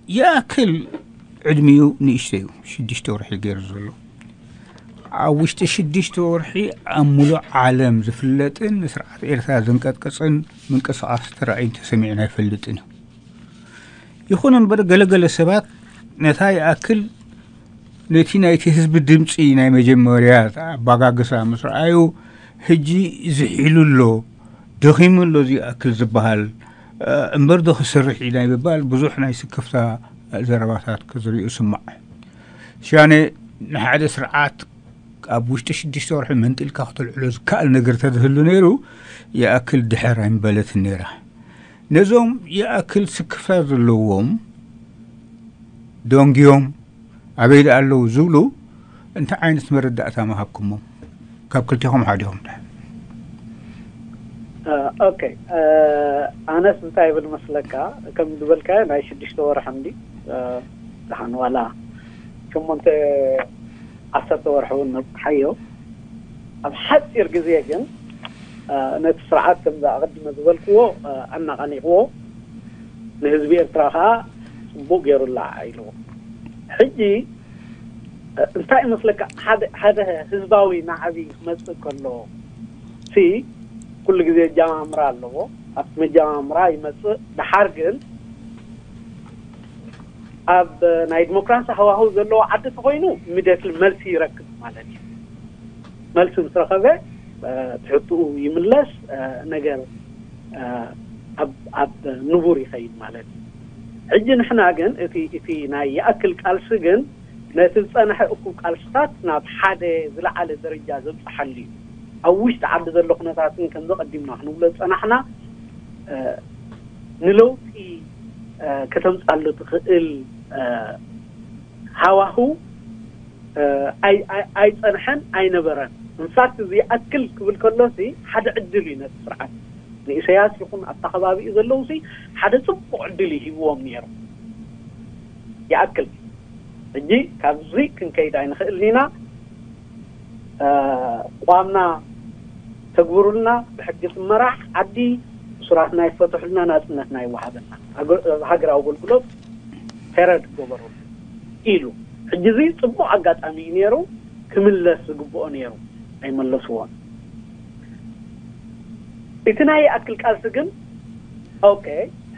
ይኣክል ዕድሚኡ ንእሽቶ እዩ፣ ሽዱሽተ ወርሒ ገይሩ ዘሎ። ኣብ ውሽጢ ሽዱሽተ ወርሒ ኣብ ሙሉእ ዓለም ዝፍለጥን ንስርዓት ኤርትራ ዘንቀጥቀጽን ምንቅስቓስ ተራእዩን ተሰሚዑን ኣይፈልጥን እዩ። ይኹን እምበር ገለገለ ሰባት ነታ ይኣክል ነቲ ናይቲ ህዝቢ ድምፂ ናይ መጀመርያ ኣባጋግሳ ምስ ረኣዩ፣ ሕጂ ዝሒሉ ኣሎ፣ ደኺሙ ኣሎ፣ እዚ ይኣክል ዝበሃል እምበር ዶ ክሰርሕ እዩ ናይ ምባል ብዙሕ ናይ ስክፍታ ዘረባታት ክዝርኡ ስማዕ። ሽያነ ንሓደ ስርዓት ኣብ ውሽጢ ሽዱሽተ ወርሒ መንጢልካ ክተልዕሎ ዝከኣል ነገር ተዝህሉ ነይሩ፣ ይኣክል ድሕር ኣይምበለትን ነይራ። ነዞም ይኣክል ስክፍታ ዘለዎም ደንግዮም ኣበይ ደኣ ኣለዉ ዝብሉ እንታይ ዓይነት መረዳእታ ምሃብኩሞም? ካብ ክልቴኹም ሓዲኹም ድኣ። ኦኬ፣ ኣነስ እንታይ ይብል መስለካ፣ ከም ዝበልካዮ ናይ ሽዱሽተ ወርሒ እንዲ ደሓን ዋላ ሸሞንተ ዓሰርተ ወርሒ እውን ነብፅሓዮ። ኣብ ሓፂር ግዜ ግን ነቲ ስርዓት ከምዚ ኣቐድመ ዝበልክዎ ኣናቓኒቕዎ፣ ንህዝቢ ኤርትራ ከዓ ፅቡቅ ገይሩ ላዓ ኢልዎ። ሕጂ እንታይ ይመስለካ፣ ሓደ ህዝባዊ ናዕቢ ክመፅእ ከሎ ሲ ኩሉ ግዜ ኣጀማምራ ኣለዎ። ኣብቲ መጀማምራ ይመፅእ። ድሓር ግን ኣብ ናይ ዲሞክራሲ ሃዋህው ዘለዎ ዓዲ ተኮይኑ ኢሚድየትሊ መልሲ ይረክብ ማለት እዩ። መልሲ ምስ ረኸበ ትሕትኡ ይምለስ፣ ነገር ኣብ ንቡር ይኸይድ ማለት እዩ። ሕጂ ንሕና ግን እቲ ናይ ይኣክል ቃልሲ ግን ነቲ ዝፀንሐ እኩብ ቃልስታት ናብ ሓደ ዝለዓለ ደረጃ ዘብፅሓሉ እዩ። ኣብ ውሽጢ ዓዲ ዘሎ ኩነታት ግን ከምዚ ቀዲምና ክንብሎ ዝፀናሕና ንለውጢ ከተምፃሉ ትኽእል ሃዋህው ኣይፀንሐን ኣይነበረን። እንፋክት እዚ ይኣክል ክብል ከሎሲ ሓደ ዕድል እዩ ነቲ ስርዓት ንኢሰያስ ይኹን ኣብታ ከባቢኡ ዘለውሲ ሓደ ፅቡቅ ዕድል እዩ ሂብዎም ነይሩ። ይኣክል ሕጂ ካብዚ ክንከይድ ኣይንኽእልን ኢና። ቋምና ተግብሩልና፣ ብሕጊ ትመራሕ ዓዲ፣ እሱራትና ይፈትሑልና፣ ናፅነትና ይወሃበና፣ ሃገራዊ ኣገልግሎት ፔረድ ገበሩ ኢሉ። ሕጂ እዚ ፅቡቅ ኣጋጣሚ እዩ ነይሩ፣ ክምለስ ዝግብኦ ነይሩ፣ ኣይመለስዎን። እቲ ናይ ይኣክል ቃልሲ ግን ኦኬ፣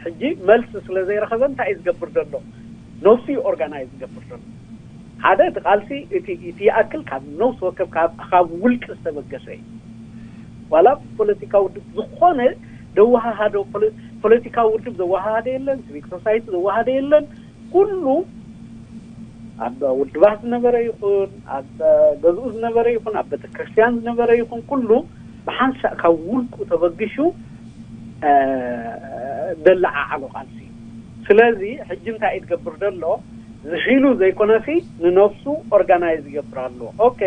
ሕጂ መልሲ ስለ ዘይረኸበ እንታይ እዩ ዝገብር ዘሎ? ነብሱ እዩ ኦርጋናይዝ ዝገብር ዘሎ። ሓደ እቲ ቃልሲ እቲ ይኣክል ካብ ነብሲ ወከፍ ካብ ውልቂ ዝተበገሰ እዩ። ዋላ ፖለቲካዊ ውድብ ዝኾነ ዘወሃሃዶ ፖለቲካዊ ውድብ ዘወሃሃደ የለን፣ ሲቪክ ሶሳይቲ ዘወሃደ የለን። ኩሉ ኣብ ውድባት ዝነበረ ይኹን ኣብ ገዝኡ ዝነበረ ይኹን ኣብ ቤተክርስትያን ዝነበረ ይኹን ኩሉ ብሓንሳእ ካብ ውልቁ ተበግሹ ደለዓዓሎ ቃልሲ እዩ። ስለዚ ሕጂ እንታይ እዩ ትገብር ዘሎ? ዝሒሉ ዘይኮነሲ ንነብሱ ኦርጋናይዝ ይገብር ኣሎ። ኦኬ፣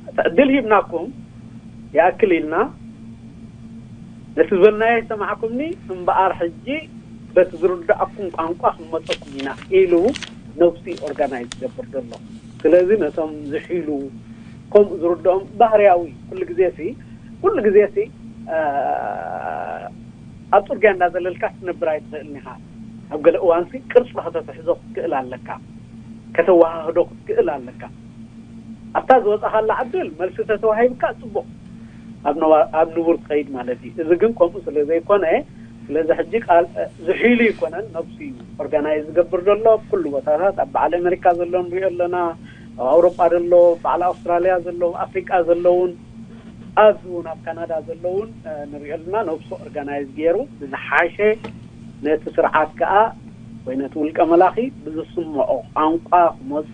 እቲ ዕድል ሂብናኩም ይኣክል ኢልና ነቲ ዝበልናዮ ይሰማዕኩምኒ እምበኣር ሕጂ በቲ ዝርድኣኩም ቋንቋ ክንመፀኩም ኢና ኢሉ ነብሲ ኦርጋናይዝ ዝገብር ዘሎ። ስለዚ ነቶም ዝሒሉ ከምኡ ዝርድኦም ባህርያዊ ኩሉ ግዜ ሲ ኩሉ ግዜ ሲ ኣብ ፅርግያ እንዳዘለልካ ክትነብር ኣይትኽእልን ኢኻ። ኣብ ገለ እዋን ሲ ቅርፂ ከተትሕዞ ክትክእል ኣለካ፣ ከተወሃህዶ ክትክእል ኣለካ። ኣብታ ዝወፃኻላ ዕድል መልሲ ተተዋሂብካ ፅቡቕ ኣብ ንቡር ትኸይድ ማለት እዩ። እዚ ግን ከምኡ ስለ ዘይኮነ ስለዚ ሕጂ ቃል ዝሒሉ ይኮነን ነብሱ እዩ ኦርጋናይዝ ዝገብር ዘሎ ኣብ ኩሉ ቦታታት ኣብ በዓል ኣሜሪካ ዘሎ ንሪኦ ኣለና፣ ኣብ ኣውሮጳ ዘሎ፣ በዓል ኣውስትራሊያ ዘሎ፣ ኣፍሪቃ ዘለውን ኣብዚ እውን ኣብ ካናዳ ዘለውን ንሪኦ ኣለና። ነብሱ ኦርጋናይዝ ገይሩ ብዝሓሸ ነቲ ስርዓት ከዓ ወይ ነቲ ውልቀ መላኺ ብዝስምዖ ቋንቋ ክመፆ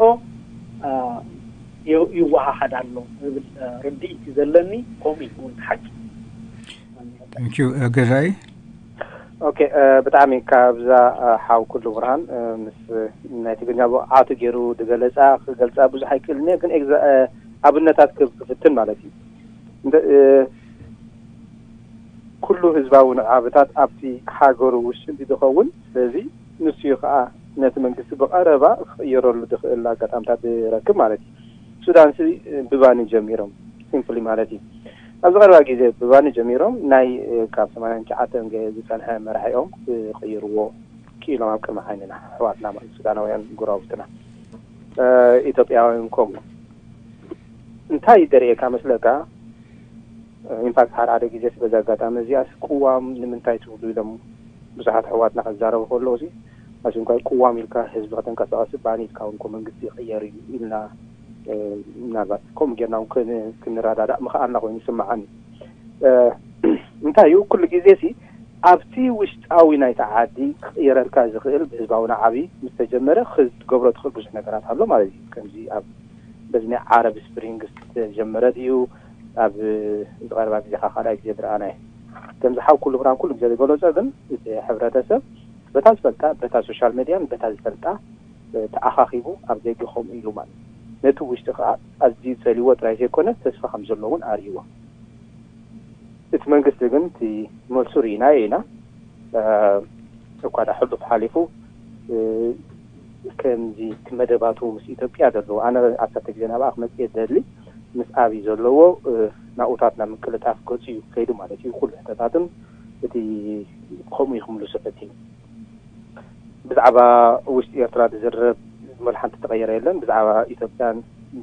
ይወሃሃድ ኣሎ ዝብል ርድኢት እዩ ዘለኒ። ከምኡ እውን ሓቂ ገዛይ ኦኬ፣ ብጣዕሚ ካብዛ ሓው ኩሉ ብርሃን ምስ ናይ ትግርኛ ብቕዓቱ ገይሩ ዝገለፃ ክገልፃ ብዙሕ ኣይክእልን እየ፣ ግን ኣብነታት ክፍትን ማለት እዩ። ኩሉ ህዝባዊ ንዕብታት ኣብቲ ሃገሩ ውሽጢ ዝኸውን፣ ስለዚ ንሱ እዩ ከዓ ነቲ መንግስቲ ብቐረባ ክቕየረሉ ዝኽእል ኣጋጣምታት ዝረክብ ማለት እዩ። ሱዳን ሲ ብባኒ ጀሚሮም ሲምፕሊ ማለት እዩ። ኣብዚ ቀረባ ግዜ ብባኒ ጀሚሮም ናይ ካብ ሰማንያን ትሽዓተን ዝፀንሐ መራሒኦም ክቕይርዎ ኢሎም ኣብ ቅድሚ ዓይንና ኣሕዋትና ማለት ሱዳናውያን ጎረባብትና ኢትዮጵያውያን ከምኡ እንታይ ደርእየካ መስለካ? ኢንፋክት ሓደ ሓደ ግዜ በዚ ኣጋጣሚ እዚኣስ ቅዋም ንምንታይ ትብሉ ኢሎም ብዙሓት ኣሕዋትና ከዛረቡ ከለዉ ሲ ኣሽንኳይ ቅዋም ኢልካ ህዝቢ ከተንቀሳቐስ ባኒ ኢልካ እውን መንግስቲ ይቕየር እዩ ኢልና ምናልባት ከምኡ ጌርና እውን ክንረዳዳእ ምኽኣልና ኮይኑ ይስምዓኒ። እንታይ እዩ ኩሉ ግዜ ሲ ኣብቲ ውሽጣዊ ናይቲ ዓዲ ክቕየረልካ ዝኽእል ብህዝባዊ ናዕቢ ምስ ተጀመረ ክትገብሮ ትኽእል ብዙሕ ነገራት ኣሎ ማለት እዩ። ከምዚ ኣብ በዚ ናይ ዓረብ ስፕሪንግ ዝተጀመረ ድዩ ኣብ ዝቐረባ ግዜ ካብ ካልኣይ ግዜ ዝረኣናዮ ከምዚ ሓው ኩሉ ብርሃን ኩሉ ግዜ ዝገለጾ ግን እቲ ሕብረተሰብ በታ ዝፈልጣ በታ ሶሻል ሜድያን በታ ዝፈልጣ ተኣኻኺቡ ኣብ ደገ ከምኡ ኢሉ ማለት ነቲ ውሽጢ ከዓ ኣዝዩ ጸልዎ ጥራይ ዘይኮነ ተስፋ ከም ዘሎ እውን ኣርእይዎ። እቲ መንግስቲ ግን እቲ መልሱ ርኢናዮ ኢና። እኳ ዳ ሕሉፍ ሓሊፉ ከምዚ እቲ መደባቱ ምስ ኢትዮጵያ ዘለዎ ኣነ ኣሳተ ግዜ ናብኣ ክመፅእ ደሊ ምስ ኣብይ ዘለዎ ናኡታት ናብ ምቅልጣፍ ገፁ እዩ ከይዱ ማለት እዩ። ኩሉ ሕተታትን እቲ ከምኡ እዩ ክምልሱ ፈቲኑ። ብዛዕባ ውሽጢ ኤርትራ ዝዝረብ ዝመል ሓንቲ ተቐየረ የለን። ብዛዕባ ኢትዮጵያን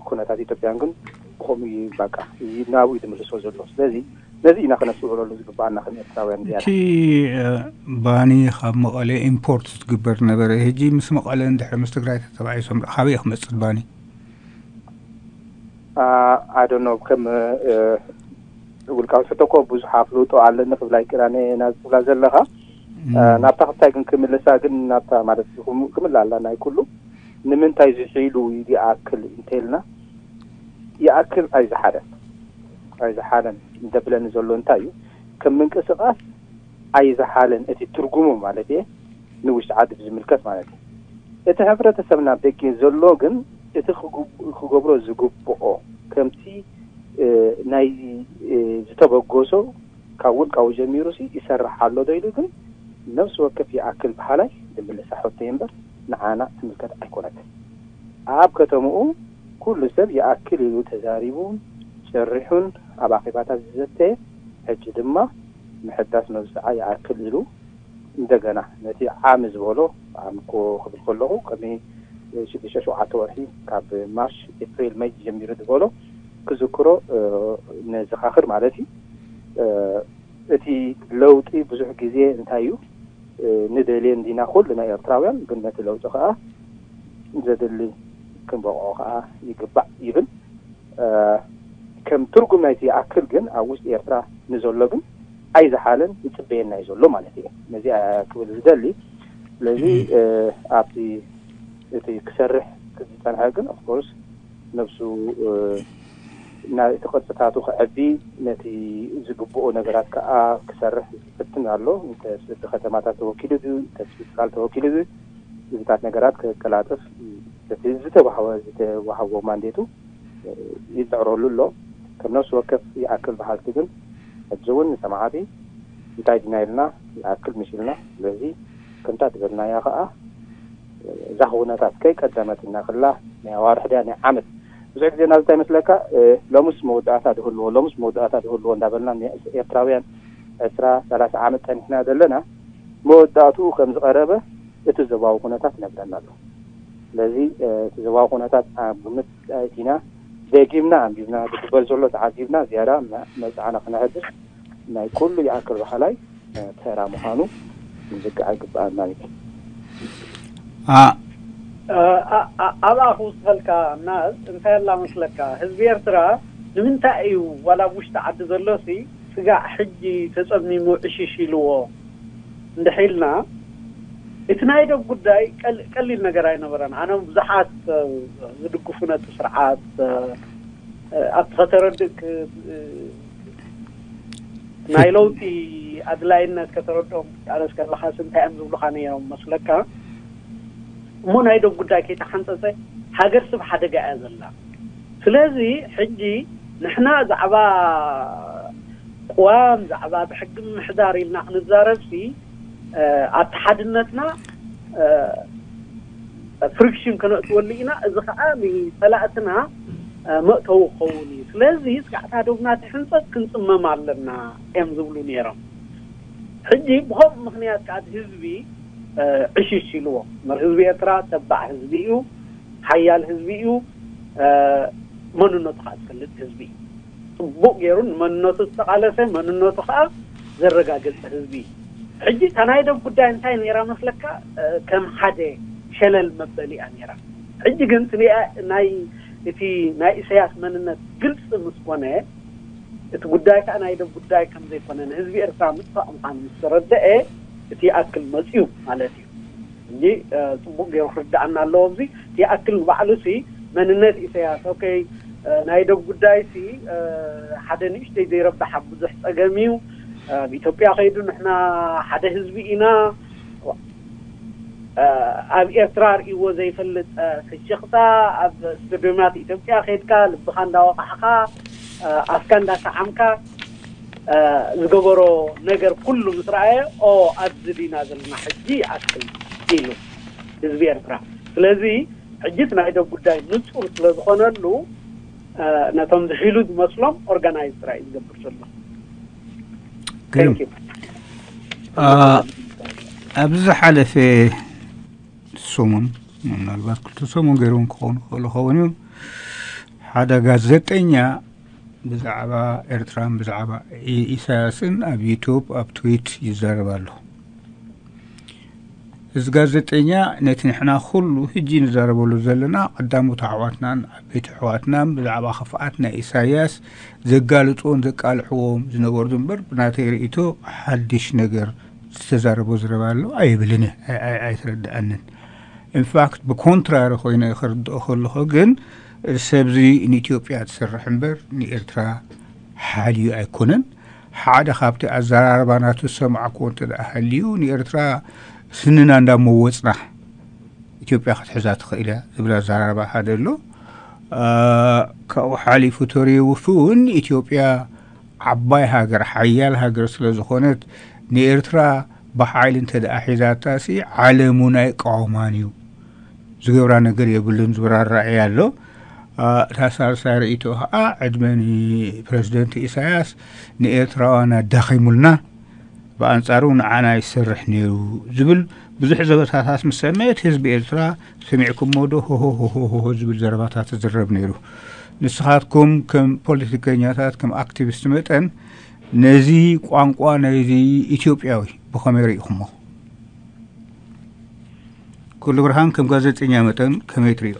ኩነታት ኢትዮጵያን ግን ብኸምኡ እዩ በቃ ናብኡ እዩ ዝምልሶ ዘሎ። ስለዚ ነዚ ኢና ከነስተውዕለሉ ዝግባኣና ከም ኤርትራውያን ዝያዳ። እቲ ባኒ ካብ መቐለ ኢምፖርት ዝግበር ነበረ። ሕጂ ምስ መቐለ እንድሕር ምስ ትግራይ ተተባኢሶም ካበይ ክመፅእ ባኒ? ኣይ ዶንት ኖ ከም ውልቃዊ ሕቶ እኮ ብዙሕ ኣፍልጦ ኣለኒ ክብላ ይክእላኒ ናዚ ትብላ ዘለኻ ናብታ ክታይ ግን ክምልሳ ግን ናብታ ማለት ክምላ ኣላ ናይ ኩሉ ንምንታይ ዝሒሉ ይኣክል እንተልና ይኣክል ኣይዝሓለን ኣይዝሓለን እንደብለኒ ዘሎ እንታይ እዩ ከም ምንቅስቃስ ኣይዝሓለን እቲ ትርጉሙ ማለት እየ ንውሽጢ ዓዲ ብዝምልከት ማለት እዩ። እቲ ሕብረተሰብና ደገ ዘሎ ግን እቲ ክገብሮ ዝግብኦ ከምቲ ናይ ዝተበገሶ ካብ ውልቃዊ ጀሚሩ ሲ ይሰርሕ ኣሎ ዶ ኢሉ ግን ነብሲ ወከፍ ይኣክል በሃላይ ዝምልሳ ሕቶ እምበር ንዓና ትምልከት ኣይኮነትን። ኣብ ከተምኡ ኩሉ ሰብ ይኣክል ኢሉ ተዛሪቡን ጭርሑን ኣብ ኣኼባታት ዝዘተየ ሕጂ ድማ ምሕዳስ መብፅዓ ይኣክል ኢሉ እንደገና ነቲ ዓሚ ዝበሎ ዓሚ እኮ ክብል ከለኹ ቅድሚ ሽዱሽተ ሸውዓተ ወርሒ ካብ ማርች ኤፕሪል መይ ጀሚሩ ዝበሎ ክዝክሮ ነዘኻኽር ማለት እዩ። እቲ ለውጢ ብዙሕ ግዜ እንታይ እዩ ንደልየ እንዲና ኩሉ ናይ ኤርትራውያን ግን ነቲ ለውጢ ከዓ ዘድሊ ክንበቕዖ ከዓ ይግባእ ይብል። ከም ትርጉም ናይቲ ይኣክል ግን ኣብ ውሽጢ ኤርትራ ንዘሎ ግን ኣይዝሓለን ይፅበየና እዩ ዘሎ ማለት እየ ነዚ ክብል ዝደሊ። ስለዚ ኣብቲ እቲ ክሰርሕ ዝፀንሐ ግን ኦፍኮርስ ነብሱ እቲ ቅርፅታቱ ክዕቢ ነቲ ዝግብኦ ነገራት ከዓ ክሰርሕ ዝፍትን ኣሎ። እንተስብቲ ከተማታት ተወኪሉ ድዩ እንተስብቲ ትካል ተወኪሉ ድዩ እዚታት ነገራት ክቀላጥፍ እቲ ዝተዋህወ ዝተዋህቦ ማንዴቱ ይፅዕረሉ ኣሎ። ከም ነብሲ ወከፍ ይኣክል በሃልቲ ግን ሕጂ እውን ንሰማዕቲ እንታይ ድና ኢልና ይኣክል ምሽ ኢልና ስለዚ ከምታ ዝበልናያ ከዓ እዛ ኩነታት ከይ ቀደመት እናክላ ናይ ኣዋርሕ ድያ ናይ ዓመት ብዙሕ ግዜ ናብዚ እንታይ መስለካ ሎምስ መወዳእታ ድህልዎ ሎምስ መወዳእታ ድህልዎ እንዳበልና ኤርትራውያን ዕስራ ሰላሳ ዓመት ፀኒሕና ዘለና መወዳእትኡ ከም ዝቐረበ እቲ ዞባዊ ኩነታት ይነግረና ኣሎ። ስለዚ እቲ ዞባዊ ኩነታት ኣብ ግምት ኣእቲና ደጊምና ኣንቢብና ዝግበር ዘሎ ተዓዚብና ዝያዳ መብፅዓና ክነሕድስ ናይ ኩሉ ይኣክል በሃላይ ተራ ምዃኑ ምዝንጋዕ ኣይግበኣናን እዩ። ኣ- ኣ- ኣ- ኣብኣ ክውስኸልካ ናዝ እንታይ ኣላ መስለካ ህዝቢ ኤርትራ ንምንታይ እዩ ዋላ ኣብ ውሽጢ ዓዲ ዘሎሲ ስጋዕ ሕጂ ተጸሚሙ ዕሽሽ ኢልዎ እንድሕር ኢልና እቲ ናይ ዶብ ጉዳይ ቀል- ቀሊል ነገር ኣይነበረን። ኣነ ብዙሓት ዝድግፉ ነቲ ስርዓት ኣብቲ ከተረድእ ናይ ለውጢ ኣድላይነት ከተረድኦም ክትቃለስ ከለኻስ እንታይ እዮም ዝብሉኻ ነይሮም መስለካ? እሞ ናይ ዶብ ጉዳይ ከይተሓንፀፀ ሃገር ስብ ሓደጋ እያ ዘላ። ስለዚ ሕጂ ንሕና ዛዕባ ቅዋም ዛዕባ ብሕጊ ምምሕዳር ኢልና ክንዛረብሲ ኣተሓድነትና ፍሪክሽን ከነእትወሉ ኢና። እዚ ከዓ ንፀላእትና መእተዊ ክኸውን እዩ። ስለዚ ስጋዕታ ዶብና ትሕንፀት ክንፅመም ኣለና እዮም ዝብሉ ነይሮም። ሕጂ ብኸምኡ ምኽንያት ከዓ ህዝቢ ዕሽሽ ኢልዎ። እምበር ህዝቢ ኤርትራ ተባዕ ህዝቢ እዩ፣ ሓያል ህዝቢ እዩ፣ መንነቱ ከዓ ዝፈልጥ ህዝቢ እዩ። ፅቡቅ ገይሩ ንመንነቱ ዝተቃለሰ፣ መንነቱ ከዓ ዘረጋገፀ ህዝቢ እዩ። ሕጂ እታ ናይ ደብ ጉዳይ እንታይ ነይራ መስለካ? ከም ሓደ ሸለል መበሊኣ ነይራ። ሕጂ ግን ናይ እቲ ናይ ኢሳያስ መንነት ግልፂ ምስ ኮነ፣ እቲ ጉዳይ ከዓ ናይ ደብ ጉዳይ ከም ዘይኮነ ንህዝቢ ኤርትራ ምጥፋእ ምዃኑ ምስ ተረደአ፣ እቲ ይኣክል መፅዩ ማለት እዩ። እንጂ ፅቡቅ ገይሩ ክርዳኣና ኣለዎ። እዚ ይኣክል ንባዕሉ ሲ መንነት ኢሳያስ ኦኬ፣ ናይ ደብ ጉዳይ ሲ ሓደ ንእሽተይ ዘይረብሓ ብዙሕ ፀገም እዩ። ኣብ ኢትዮጵያ ከይዱ ንሕና ሓደ ህዝቢ ኢና፣ ኣብ ኤርትራ ርእይዎ ዘይፈልጥ ፍሽኽታ፣ ኣብ ስቱድዮማት ኢትዮጵያ ከይድካ ልብኻ እንዳወቃዕካ ኣፍካ እንዳሰዓምካ ዝገበሮ ነገር ኩሉ ምስ ረኣየ፣ ኦ ኣብዚ ዲና ዘለና ሕጂ ይኣክል ኢሉ ህዝቢ ኤርትራ። ስለዚ ሕጂ እቲ ናይ ደብ ጉዳይ ንጹር ስለ ዝኾነሉ ነቶም ዝሒሉ ዝመስሎም ኦርጋናይዝ ጥራይ እዩ ዝገብር ዘሎ። ኣብዚ ዝሓለፈ ሰሙን፣ ምናልባት ክልተ ሰሙን ገይሮም ክኾኑ ክኽእሉ ኸውን እዮም፣ ሓደ ጋዜጠኛ ብዛዕባ ኤርትራን ብዛዕባ ኢሳያስን ኣብ ዩቱብ ኣብ ትዊት ይዛረብ ኣሎ። እዚ ጋዜጠኛ ነቲ ንሕና ኩሉ ሕጂ ንዛረበሉ ዘለና ቀዳሞት ኣሕዋትናን ዓበይቲ ኣሕዋትናን ብዛዕባ ክፍኣት ናይ ኢሳያስ ዘጋልጽዎን ዘቃልሕዎም ዝነበሩ እምበር ብናተይ ርእይቶ ሓድሽ ነገር ዝተዛረቦ ዝረባ ኣሎ ኣይብልን፣ ኣይተረድኣንን። ኢንፋክት ብኮንትራሪ ኮይነ ክርድኦ ከለኹ ግን ሰብዚ ንኢትዮጵያ ትሰርሕ እምበር ንኤርትራ ሓልዩ ኣይኮነን። ሓደ ካብቲ ኣዘራርባ ናቱ ዝሰማዕኩዎ እንተ ደኣ ሃልዩ ንኤርትራ ስንና እንዳመወፅና ኢትዮጵያ ክትሕዛ ትኽእል እያ ዝብል ኣዘራርባ ሓደ ኣሎ። ካብኡ ሓሊፉ ተሪውፍ እውን ኢትዮጵያ ዓባይ ሃገር ሓያል ሃገር ስለ ዝኾነት ንኤርትራ ብሓይሊ እንተ ደኣ ሒዛታ ሲ ዓለም እውን ኣይቃወማን እዩ። ዝገብራ ነገር የብሉን ዝብል ኣረኣእያ ኣሎ። እታ ሳልሳይ ርእይቶ ከዓ ዕድመ ንፕረዚደንት ኢሳያስ ንኤርትራውያን ኣዳኺሙልና ብኣንጻሩ ንዓና ይሰርሕ ነይሩ ዝብል ብዙሕ ዘበታታት ምስ ሰምዐ እቲ ህዝቢ ኤርትራ ሰሚዕኩሞ ዶ ሆሆ ዝብል ዘረባታት ይዝረብ ነይሩ። ንስኻትኩም ከም ፖለቲከኛታት ከም ኣክቲቪስት መጠን ነዚ ቋንቋ ናይዚ ኢትዮጵያዊ ብኸመይ ርኢኹሞ? ኩሉ ብርሃን ከም ጋዜጠኛ መጠን ከመይ ትሪኦ?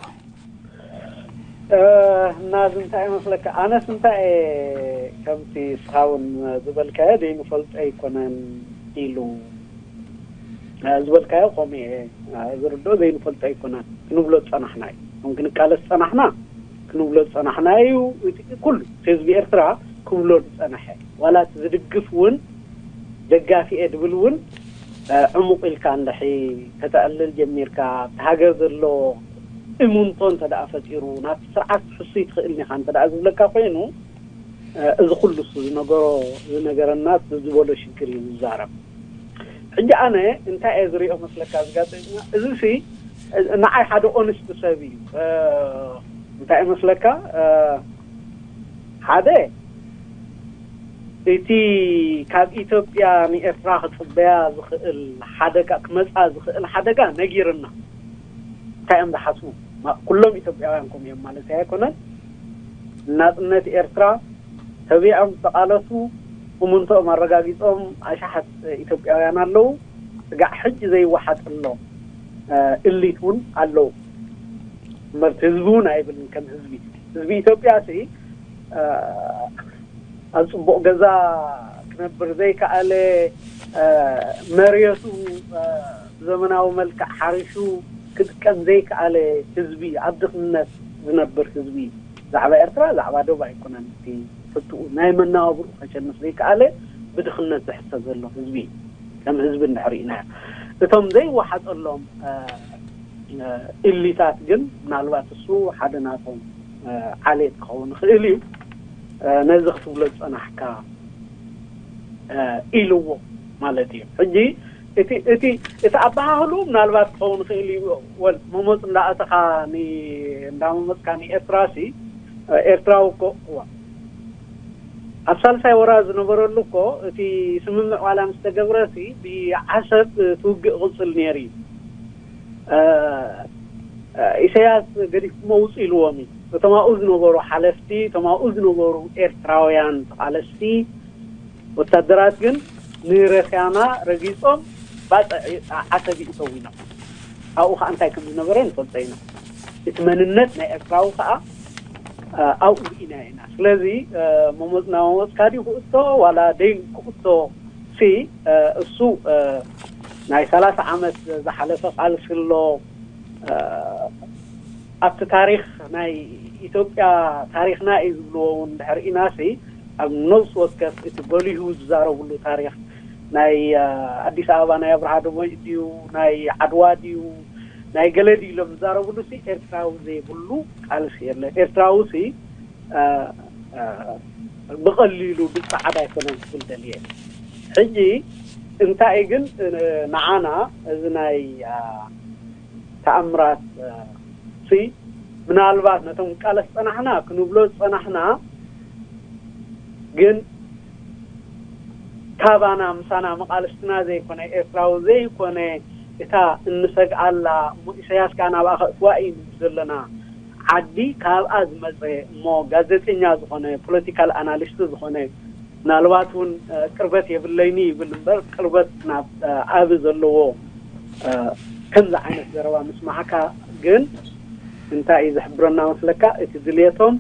ናዚ እንታይ ይመስለካ? ኣነስ እንታይ እየ ከምቲ እስኻ እውን ዝበልካዮ ዘይንፈልጦ ኣይኮነን ኢሉ ዝበልካዮ ከምኡ እየ ዝርድኦ። ዘይንፈልጦ ኣይኮነን ክንብሎ ዝፀናሕና እዩ። ከም ክንቃለስ ዝፀናሕና ክንብሎ ዝፀናሕና እዩ። ኩሉ ህዝቢ ኤርትራ ክብሎ ዝፀናሐ ዋላ እቲ ዝድግፍ እውን ደጋፊ እየ ድብል እውን ዕሙቕ ኢልካ እንድሕሪ ከተዕልል ጀሚርካ ኣብቲ ሃገር ዘሎ እሙንቶ እንተ ደኣ ፈጢሩ ናብቲ ስርዓት ትሕሱ ይትኽእልን ኢኻ እንተ ደኣ ዝብለካ ኮይኑ እዚ ኩሉ እሱ ዝነገሮ ዝነገረና ዝበሎ ሽግር እዩ ዝዛረብ። ሕጂ ኣነ እንታይ እየ ዝሪኦ መስለካ ዝጋጠኛ እዚ ሲ ንዓይ ሓደ ኦንስት ሰብ እዩ። እንታይ መስለካ ሓደ እቲ ካብ ኢትዮጵያ ንኤርትራ ክፅበያ ዝኽእል ሓደጋ ክመፃ ዝኽእል ሓደጋ ነጊርና እንታይ እዮም ዝሓስቡ ኩሎም ኢትዮጵያውያን ከምኡ እዮም ማለት ኣይኮነን። ናፅነት ኤርትራ ተቢዖም ዝተቃለሱ እሙንቶኦም ኣረጋጊፆም ኣሽሓት ኢትዮጵያውያን ኣለዉ። ስጋዕ ሕጂ ዘይወሓጠሎም እሊት እውን ኣለዉ። እምበርቲ ህዝቢ እውን ኣይብልን ከም ህዝቢ ህዝቢ ኢትዮጵያ ሲ ኣብ ፅቡቅ ገዛ ክነብር ዘይከኣለ መሬቱ ብዘመናዊ መልክዕ ሓሪሹ ክጥቀም ዘይከኣለ ህዝቢ ኣብ ድኽነት ዝነብር ህዝቢ ዛዕባ ኤርትራ ዛዕባ ዶብ ኣይኮነን። እቲ ፍትኡ ናይ መናባብርኡ ከሸንፍ ዘይከኣለ ብድኽነት ዝሕሰብ ዘሎ ህዝቢ ከም ህዝቢ እንድሕር ኢናዮ እቶም ዘይወሓጠሎም ኢሊታት ግን ምናልባት እሱ ሓደ ናቶም ዓሌት ክኸውን ይኽእል እዩ። ነዚ ክትብሎ ዝፀናሕካ ኢልዎ ማለት እዩ። ሕጂ እቲ እቲ እቲ ኣበሃህሉ ምናልባት ክኸውን ይኽእል እዩ። ወል መሞፅ እንዳኣተኻ እንዳመመፅካ ንኤርትራ ሲ ኤርትራዊ እኮ እዋ ኣብ ሳልሳይ ወራ ዝነበረሉ እኮ እቲ ስምምዕ ዋላ ምስ ተገብረሲ ብዓሰብ እቲ ውግእ ይቕጽል ነይሩ እዩ። ኢሳያስ ገዲፍኩሞ ውፁ ኢልዎም እዩ። እቶም ኣብኡ ዝነበሩ ሓለፍቲ፣ እቶም ኣብኡ ዝነበሩ ኤርትራውያን ተቓለስቲ ወታደራት ግን ንረስያና ረጊጾም ባጽዕ ዓሰብ ይእተው ኢና። ኣብኡ ከዓ እንታይ ከም ዝነበረ ንፈልጦ ኢና። እቲ መንነት ናይ ኤርትራዊ ከዓ ኣብኡ ርኢና ኢና። ስለዚ መሞፅና መሞፅካ ድዩ ክእቶ ዋላ ደይ ክእቶ ሲ እሱ ናይ ሰላሳ ዓመት ዝሓለፈ ቃልሲ ኣሎ። ኣብቲ ታሪኽ ናይ ኢትዮጵያ ታሪኽና እዩ ዝብልዎ እውን ድሕር ኢናሲ ኣብ ነብሲ ወከፍ እቲ ጎሊሁ ዝዛረብሉ ታሪኽ ናይ ኣዲስ ኣበባ ናይ ኣብርሃ ደቦይ ድዩ ናይ ዓድዋ ድዩ ናይ ገለ ድዩ ኢሎም ዝዛረብሉ ሲ ኤርትራዊ ዘይብሉ ቃልሲ የለ። ኤርትራዊ ሲ ብቐሊሉ ብጻዕዳ ኣይኮነን ክብል ደልየ። ሕጂ እንታይ ግን ንዓና እዚ ናይ ተኣምራት ሲ ምናልባት ነቶም ቃለስ ጸናሕና ክንብሎ ጸናሕና ግን ካባና ምሳና መቃልስትና ዘይኮነ ኤርትራዊ ዘይኮነ እታ እንሰግኣላ እሞ ኢሳያስ ከዓ ናብኣ ከእትዋ እዩ ንብል ዘለና ዓዲ ካብኣ ዝመፀ እሞ ጋዜጠኛ ዝኾነ ፖለቲካል ኣናሊስት ዝኾነ ምናልባት እውን ቅርበት የብለይኒ ይብል እምበር ቅርበት ናብ ዓቢ ዘለዎ ከምዚ ዓይነት ዘረባ ምስማዕካ ግን እንታይ እዩ ዝሕብረና መስለካ? እቲ ድልየቶም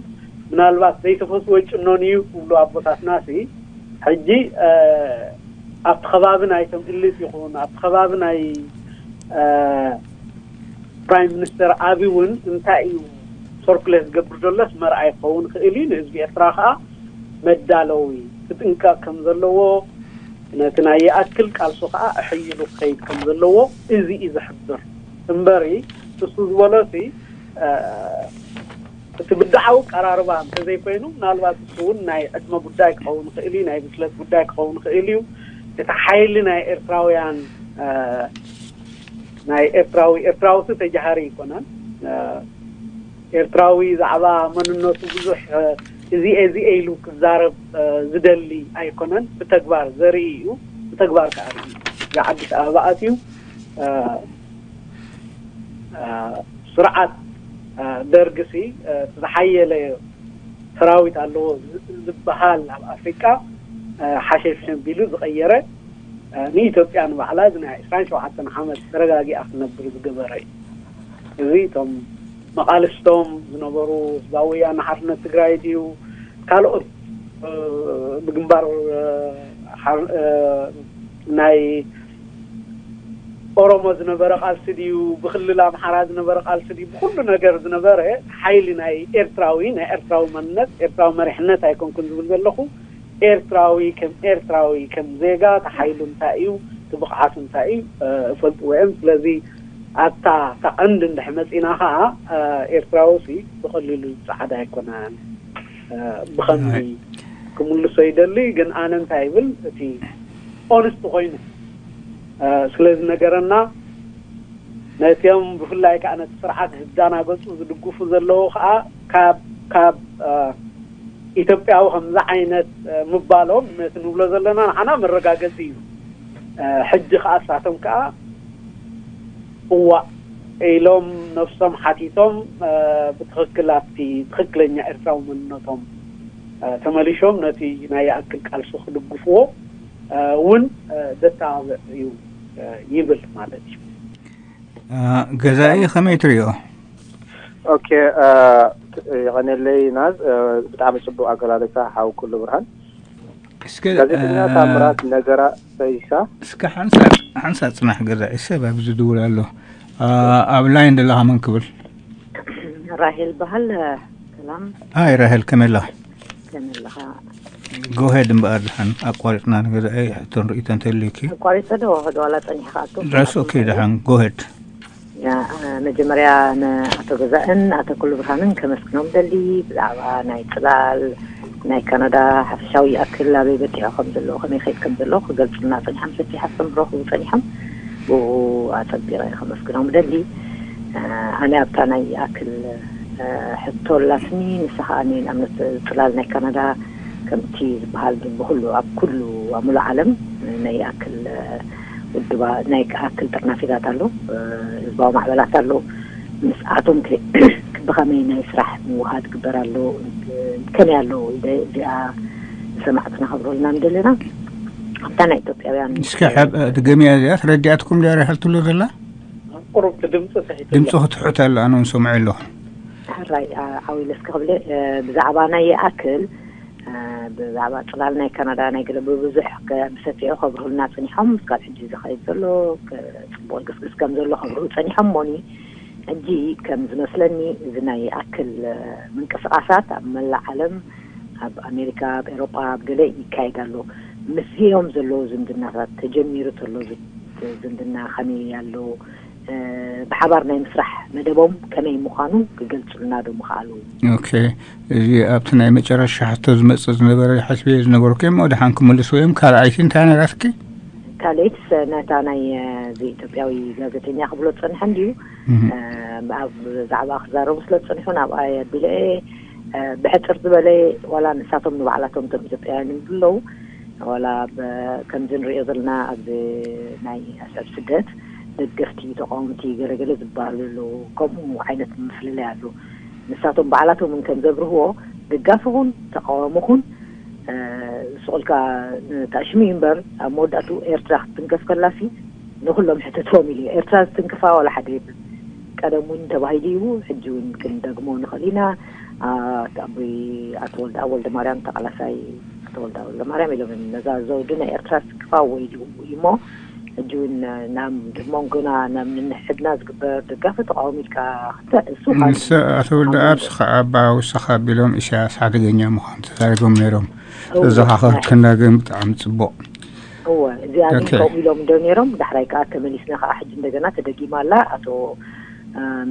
ምናልባት ዘይተፈትወ ጭኖን እዩ ክብሉ ኣቦታትና ሲ ሕጂ ኣብቲ ከባቢ ናይቶም እልት ይኹን ኣብቲ ከባቢ ናይ ፕራይም ሚኒስተር ኣቢ እውን እንታይ እዩ ሰርኩሌት ዝገብር ዘሎስ መርኣይ ክኸውን ክእል እዩ። ንህዝቢ ኤርትራ ከዓ መዳለዊ ክጥንቀቕ ከም ዘለዎ ነቲ ናይ ይኣክል ቃልሱ ከዓ ኣሐይሉ ክኸይድ ከም ዘለዎ እዚ እዩ ዝሕብር እምበሪ እሱ ዝበሎሲ እቲ ብድዓዊ ቀራርባ እንተዘይኮይኑ ምናልባት እሱ እውን ናይ ዕድመ ጉዳይ ክኸውን ይኽእል እዩ፣ ናይ ብስለት ጉዳይ ክኸውን ይኽእል እዩ። እቲ ሓይሊ ናይ ኤርትራውያን ናይ ኤርትራዊ ኤርትራዊ ሲ ተጃሃሪ ኣይኮነን። ኤርትራዊ ዛዕባ መንነቱ ብዙሕ እዚኤ እዚኤ ኢሉ ክዛረብ ዝደሊ ኣይኮነን። ብተግባር ዘርኢ እዩ። ብተግባር ከዓ ርኢ እዚ ዓዲስ ኣበባ ኣትዩ ስርዓት ደርግሲ ዝሓየለ ሰራዊት ኣለዎ ዝበሃል ኣብ ኣፍሪቃ ሓሸብሸብ ቢሉ ዝቐየረ ንኢትዮጵያ ንባዕላ እዚ ናይ ዕስራን ሸውዓተን ዓመት ተረጋጊኣ ክነብር ዝገበረ እዩ። እዚ እቶም መቓልስቶም ዝነበሩ ህዝባዊ ወያነ ሓርነት ትግራይ ድዩ ካልኦት ብግንባር ናይ ኦሮሞ ዝነበረ ቃልሲ ድዩ ብክልል ኣምሓራ ዝነበረ ቃልሲ ድዩ ብኩሉ ነገር ዝነበረ ሓይሊ ናይ ኤርትራዊ ናይ ኤርትራዊ መንነት ኤርትራዊ መሪሕነት ኣይኮንኩን ዝብል ዘለኹ ኤርትራዊ ከም ኤርትራዊ ከም ዜጋ ተሓይሉ እንታይ እዩ ትብቕዓቱ እንታይ እዩ እፈልጥዎ እዮም። ስለዚ ኣብታ እታ ቀንዲ እንድሕ መፂና ከዓ ኤርትራዊ ሲ ብቐሊሉ ፃዕዳ ኣይኮነን። ብኸምዚ ክምልሶ ይደሊ ግን ኣነ እንታይ ይብል እቲ ኦንስት ኮይኑ ስለዚ ነገረና ነቲኦም ብፍላይ ከዓ ነቲ ስርዓት ዝዳናገፁ ዝድግፉ ዘለዉ ከዓ ካብ ካብ ኢትዮጵያዊ ከምዚ ዓይነት ምባሎም ነቲ ንብሎ ዘለና ንዓና መረጋገፂ እዩ። ሕጂ ከዓ እሳቶም ከዓ እዋእ ኢሎም ነብሶም ሓቲቶም ብትኽክል ኣብቲ ትኽክለኛ ኤርትራዊ መንነቶም ተመሊሾም ነቲ ናይ ይኣክል ቃልሲ ክድግፍዎ እውን ዘተባብዕ እዩ ይብል ማለት እዩ። ገዛኢ ከመይ ትሪኦ? ኦኬ፣ የቐኔለይ ናዝ፣ ብጣዕሚ ጽቡቕ ኣገላልጻ ሓው ኩሉ ብርሃን። እስከ ጋዜጠኛ ታምራት ነገራ ፈይሳ። እስከ ሓንሳ ሓንሳ ጽናሕ ገዛኢ፣ ሰብ ኣብዚ ዝድውል ኣሎ። ኣብ ላይን ዘለኻ መን ክብል? ራሄል በሃል። ሰላም። ኣይ ራሄል ከመይ ኣለኻ? ከመይ ኣለኻ? ጎሄድ እምበኣር ድሓን ኣቋሪፅና ንገዛኢ ሕቶን ርእይቶ እንተልዩኪ። ኣቋሪፀ ዶ ዶ ዋላ ፀኒሕካ ኣቶ? ዳስ ኦኬ ድሓን ጎሄድ። መጀመርያ ንኣቶ ገዛእን ኣቶ ኩሉ ብርሃንን ከመስግኖም ደሊ ብዛዕባ ናይ ፅላል ናይ ካናዳ ሓፈሻዊ ይኣክል ኣበይ በፂሑ ከም ዘለዎ ከመይ ከይድ ከም ዘለዎ ክገልፅልና ፀኒሖም ሰፊሕ ኣስተምህሮ ክህቡ ፀኒሖም። ብኡ ኣፀቢቐ ከመስግኖም ደሊ። ኣነ ኣብታ ናይ ይኣክል ሕቶ ኣላትኒ ንሳ ከዓ ንኣብነት ፅላል ናይ ካናዳ ከምቲ ዝበሃል ግን ብኩሉ ኣብ ኩሉ ኣብ ሙሉእ ዓለም ናይ ይኣክል ውድባ ናይ ይኣክል ጥርናፊታት ኣሎ፣ ህዝባዊ ማዕበላት ኣሎ። ምስኣቶም ከ ብኸመይ ናይ ስራሕ ምውሃድ ግበር ኣሎ፣ ከመይ ኣሎ ኢለ እዚኣ ንሰማዕትና ከብረልና ንደለና ኣብታ ናይ ኢትዮጵያውያን እስኪ ድገምያ እዚኣ ተረዲኣትኩም ዳራ ሃልትሎ ዘላ ቁሩብ ድምፂ ሰሒቱ ድምፂ ክትሕት ኣሎ ኣነ እውን ሰምዐ ኣለኹ። ሕራይ ዓው ኢለ እስከ ክብለ ብዛዕባ ናይ ይኣክል ብዛዕባ ፅላል ናይ ካናዳ ናይ ገለ ብብዙሕ ብሰፊሑ ከብርሁልና ፀኒሖም። እስካብ ሕጂ ዝኸይድ ዘሎ ፅቡቅ ግስግስ ከም ዘሎ ከብርሁ ፀኒሖም። ሞኒ ሕጂ ከም ዝመስለኒ እዚ ናይ ይኣክል ምንቅስቃሳት ኣብ መላእ ዓለም ኣብ ኣሜሪካ ኣብ ኤሮጳ ኣብ ገለ ይካየድ ኣሎ። ምስዚኦም ዘለዎ ዝምድናታት ተጀሚሩ ተሎ ዝምድና ከመይ ኣሎ? ብሓባር ናይ ምስራሕ መደቦም ከመይ ምዃኑ ክገልጹልና ዶ ምኽኣሉ? ኦኬ፣ እዚ ኣብቲ ናይ መጨረሻ ሕቶ ዝመጽእ ዝነበረ ሓስበዮ ዝነበርኩ እዮም። ወደሓን ክምልሱ እዮም። ካልኣይቲ እንታይ ነራትኪ? ካልኣይት ነታ ናይ እዚ ኢትዮጵያዊ ጋዜጠኛ ክብሎ ዝጸንሐ እንድዩ ኣብ ዛዕባ ክዛረቡ ስለ ዝጸንሑ ናብኣ የቢለ ብሕጽር ዝበለ ዋላ ንሳቶም ንባዕላቶም እቶም ኢትዮጵያውያን ይብሉ ኣለዉ ዋላ ከምዚ ንሪኦ ዘለና ኣብዚ ናይ ኣስዕብ ስደት ደገፍቲ ተቃወምቲ ገለገለ ዝበሃሉ ኣለዉ። ከምኡ ዓይነት ምፍልላይ ኣሎ። ንሳቶም ባዕላቶም እውን ከም ዘብርህዎ ደጋፊ ኹን ተቃዋሚ ኹን ስቑልካ ተኣሽሙ እዩ እምበር ኣብ መወዳእቱ ኤርትራ ክትትንከፍ ከላሲ ንኩሎም ሕተትዎም ኢሉ እዩ። ኤርትራ ዝትንክፋ ዋላ ሓደ የብሉ። ቀደም እውን ተባሂሉ እዩ፣ ሕጂ እውን ክንደግሞ ንኽእል ኢና። ኣቦይ ኣቶ ወልደኣብ ወልደማርያም ተቓላሳይ ኣቶ ወልደኣብ ወልደማርያም ኢሎም ነዛ ዘውዲ ናይ ኤርትራ ዝትንክፋ ወይሉ እዩሞ ሕጂ እውን ናብ መንጎና ናብ ንንሕድና ዝግበር ደጋፊ ተቃዋሚ ኢልካ ክተ እሱ ንስ ኣቶ ወልደኣብ ስኻ ኣባ ውሳኻ ኣቢሎም ኢሳያስ ሓደገኛ ምዃኑ ተዛሪቦም ነይሮም። ተዘኻኸርክና ግን ብጣዕሚ ጽቡቕ። እወ እዚኣ ግን ከምኡ ኢሎም እንዶ ነይሮም። ዳሕራይ ከዓ ተመሊስና ከዓ ሕጂ እንደገና ተደጊማ ኣላ። ኣቶ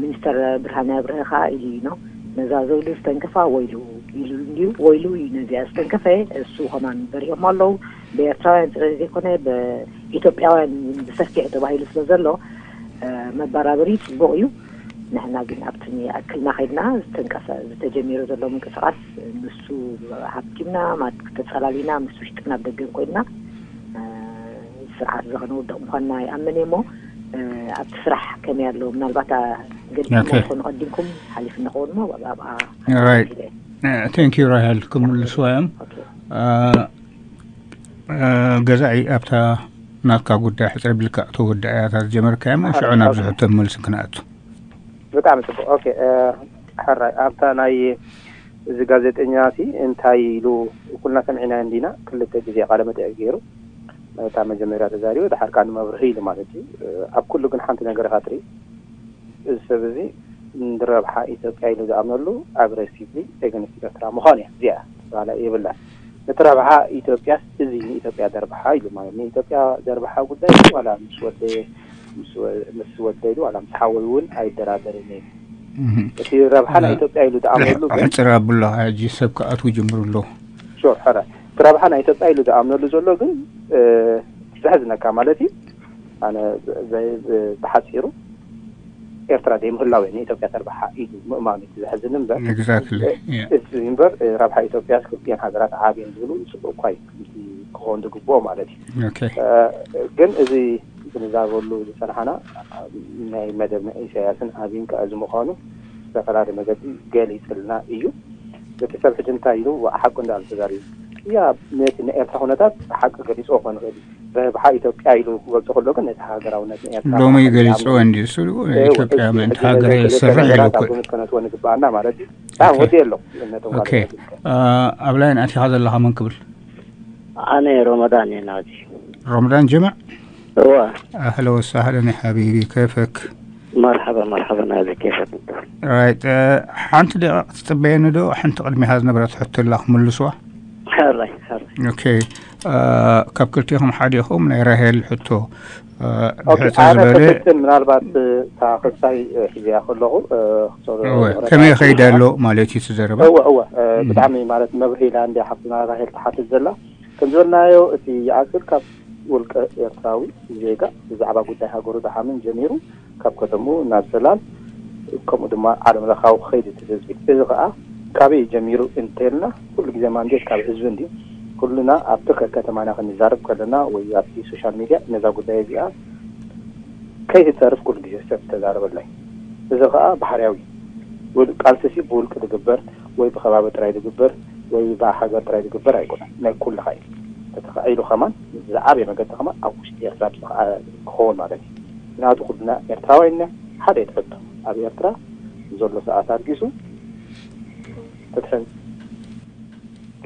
ሚኒስተር ብርሃነ ኣብርሀ ከዓ ኢሉ እዩ ነው ነዛ ዘውዲ ዝተንከፋ ወይሉ ኢሉ እንድዩ። ወይሉ እዩ ነዚኣ ዝተንከፈ። እሱ ከማን በሪሆም ኣለዉ። ብኤርትራውያን ጥራይ ዘይኮነ ብኢትዮጵያውያን እውን ብሰፊሑ ተባሂሉ ስለ ዘሎ መበራበሪ ጽቡቕ እዩ። ንሕና ግን ኣብቲ ኣክልና ከይድና ዝተንቀሰ ዝተጀሚሩ ዘሎ ምንቅስቃስ ንሱ ሃብቲምና ማለት ተጸላሊና ምስ ውሽጥና ኣብ ደገን ኮይንና ስርዓት እዚ ከነውድቕ ምዃንና ይኣምን እየ እሞ ኣብቲ ስራሕ ከመይ ኣሎ ምናልባት ገሊኹም ዝኾኑ ቀዲምኩም ሓሊፍ እንኸውን እሞ ኣብኣ ቴንክ ዩ ራሄል ክምልስዋ እዮም። ገዛኢ ኣብታ ናትካ ጉዳይ ሕፅረ ብልካ ተወዳእያ እታ ዝጀመርካያ እሞ ሽዑ ናብ ዝሕቶ መልሲ ክንኣቱ። ብጣዕሚ ፅቡቅ። ኦኬ ሕራይ ኣብታ ናይ እዚ ጋዜጠኛ ሲ እንታይ ኢሉ ኩልና ሰሚዕናዮ እንዲና ክልተ ግዜ ቃለ መጠይቅ ገይሩ እታ መጀመርያ ተዛሪቡ ድሓር ከዓ ንመብርሂ ኢሉ ማለት እዩ። ኣብ ኩሉ ግን ሓንቲ ነገር ኢኻ ትርኢ እዚ ሰብ እዚ ንረብሓ ኢትዮጵያ ኢሉ ዝኣምነሉ ኣግሬሲቭሊ ኤገንስት ኤርትራ ምዃን እያ እዚኣ ባላ የብላን። እቲ ረብሓ ኢትዮጵያስ እዚ ንኢትዮጵያ ዘርብሓ ኢሉ ማለት ንኢትዮጵያ ዘርብሓ ጉዳይ ዋላ ምስ ወደየ ምስ ወደይ ዋላ ምስ ሓወይ እውን ኣይደራደርን እየ። እቲ ረብሓ ናይ ኢትዮጵያ ኢሉ ዝኣምነሉ ግን ሕፅር ኣብሎ ሕጂ ሰብ ክኣትዉ ጅምሩ ኣለዉ። ሹር ሕረ እቲ ረብሓ ናይ ኢትዮጵያ ኢሉ ዝኣምነሉ ዘሎ ግን ዘሕዝነካ ማለት እዩ። ኣነ ብሓፂሩ ኤርትራ ዘይምህላው እየ ንኢትዮጵያ ተርባሓ ኢሉ ምእማኑ እቲ ዘሕዝን እምበር Exactly. Yeah. እዚ እምበር ረብሓ ኢትዮጵያ ክልቲኤን ሃገራት ዓብየን ዝብሉ ፅቡቅ እኳ እዩ ከምቲ ክኸውን ዝግብኦ ማለት እዩ። Okay. ግን እዚ ክንዛረበሉ ዝፀናሓና ናይ መደብ ናይ ኢሳያስን ኣብይን ከዓ እዚ ምዃኑ ዝተፈላለየ መገዲ ገሊፅልና እዩ። እቲ ሰብ ሕጂ እንታይ ኢሉ ሓቁ እንዳበለ ተዛሪቡ እያ ነቲ ናይ ኤርትራ ኩነታት ሓቂ ገሊፅዎ ክኾን ይኽእል እዩ። ረብሓ ኢትዮጵያ ኢሉ ክገልፆ ከሎ ግን ነቲ ሃገራውነት ንኤርትራ ሎሚ ገሊፅዎ እንዲ እሱ ኢትዮጵያ ምእንቲ ሃገረ ይሰርሕ ኢሉ እኮ ግምት ከነትዎ ንግበኣና ማለት እዩ። ታ ወዲ ኣሎ ነቶም ኦኬ ኣብ ላይን ኣቲኻ ዘለኻ መን ክብል ኣነ ሮመዳን እየ ናዚ ሮመዳን ጀምዕ እወ ኣህለ ወሳህለን ሓቢቢ ከይፈክ መርሓባ መርሓባ ናዚ ከይፈክ ራይት ሓንቲ ደቂቕ ትፅበየኒ ዶ ሓንቲ ቅድሚኻ ዝነበረት ሕቶ ኣላ ክምልስዋ ሕራይ ሕራይ ኦኬ ካብ ክልቲኹም ሓዲኹም ናይ ራሄል ሕቶ ኦኬ ብሕፅር ኣነ ዝበለ ክፍትን ምናልባት እታ ክሳይ ሒዝያ ከለኹ ክሰሩ እወ ከመይ ይኸይድ ኣሎ ማለት እዩ እቲ ዘረባ እወ እወ ብጣዕሚ ማለት መብርሂ ኢላ እንድያ ሓፍትና ራሄል ትሓትት ዘላ ከም ዝበልናዮ እቲ ይኣክል ካብ ውልቀ ኤርትራዊ ዜጋ ብዛዕባ ጉዳይ ሃገሩ ዝሓምን ጀሚሩ ካብ ከተምኡ ናብ ሰላም ከምኡ ድማ ዓለም ለኻዊ ክኸይድ እቲ ህዝቢ እዚ ከዓ ካበይ ጀሚሩ እንተልና፣ ኩሉ ግዜ ማንዴት ካብ ህዝቢ እንዲ። ኩልና ኣብቲ ከከተማና ክንዛረብ ከለና ወይ ኣብቲ ሶሻል ሚድያ ነዛ ጉዳይ እዚኣ ከይትተርፍ ኩሉ ግዜ ሰብ ተዛረበላይ። እዚ ከዓ ባህርያዊ እዩ። ውል- ቃልሲ ሲ ብውልቂ ዝግበር ወይ ብከባቢ ጥራይ ዝግበር ወይ ብሃገር ጥራይ ዝግበር ኣይኮነን። ናይ ኩልኻ እዩ። ተተኻኢሉ ከማን ዝዓበየ መገዲ ከማን ኣብ ውሽጢ ኤርትራ ብዝኸዓ- ክኸውን ማለት እዩ። ምክንያቱ ኩልና ኤርትራውያን ኢና። ሓደ እዩ ትሕቶ ኣብ ኤርትራ ዘሎ ሰዓት ኣልጊሱ ፍትሕን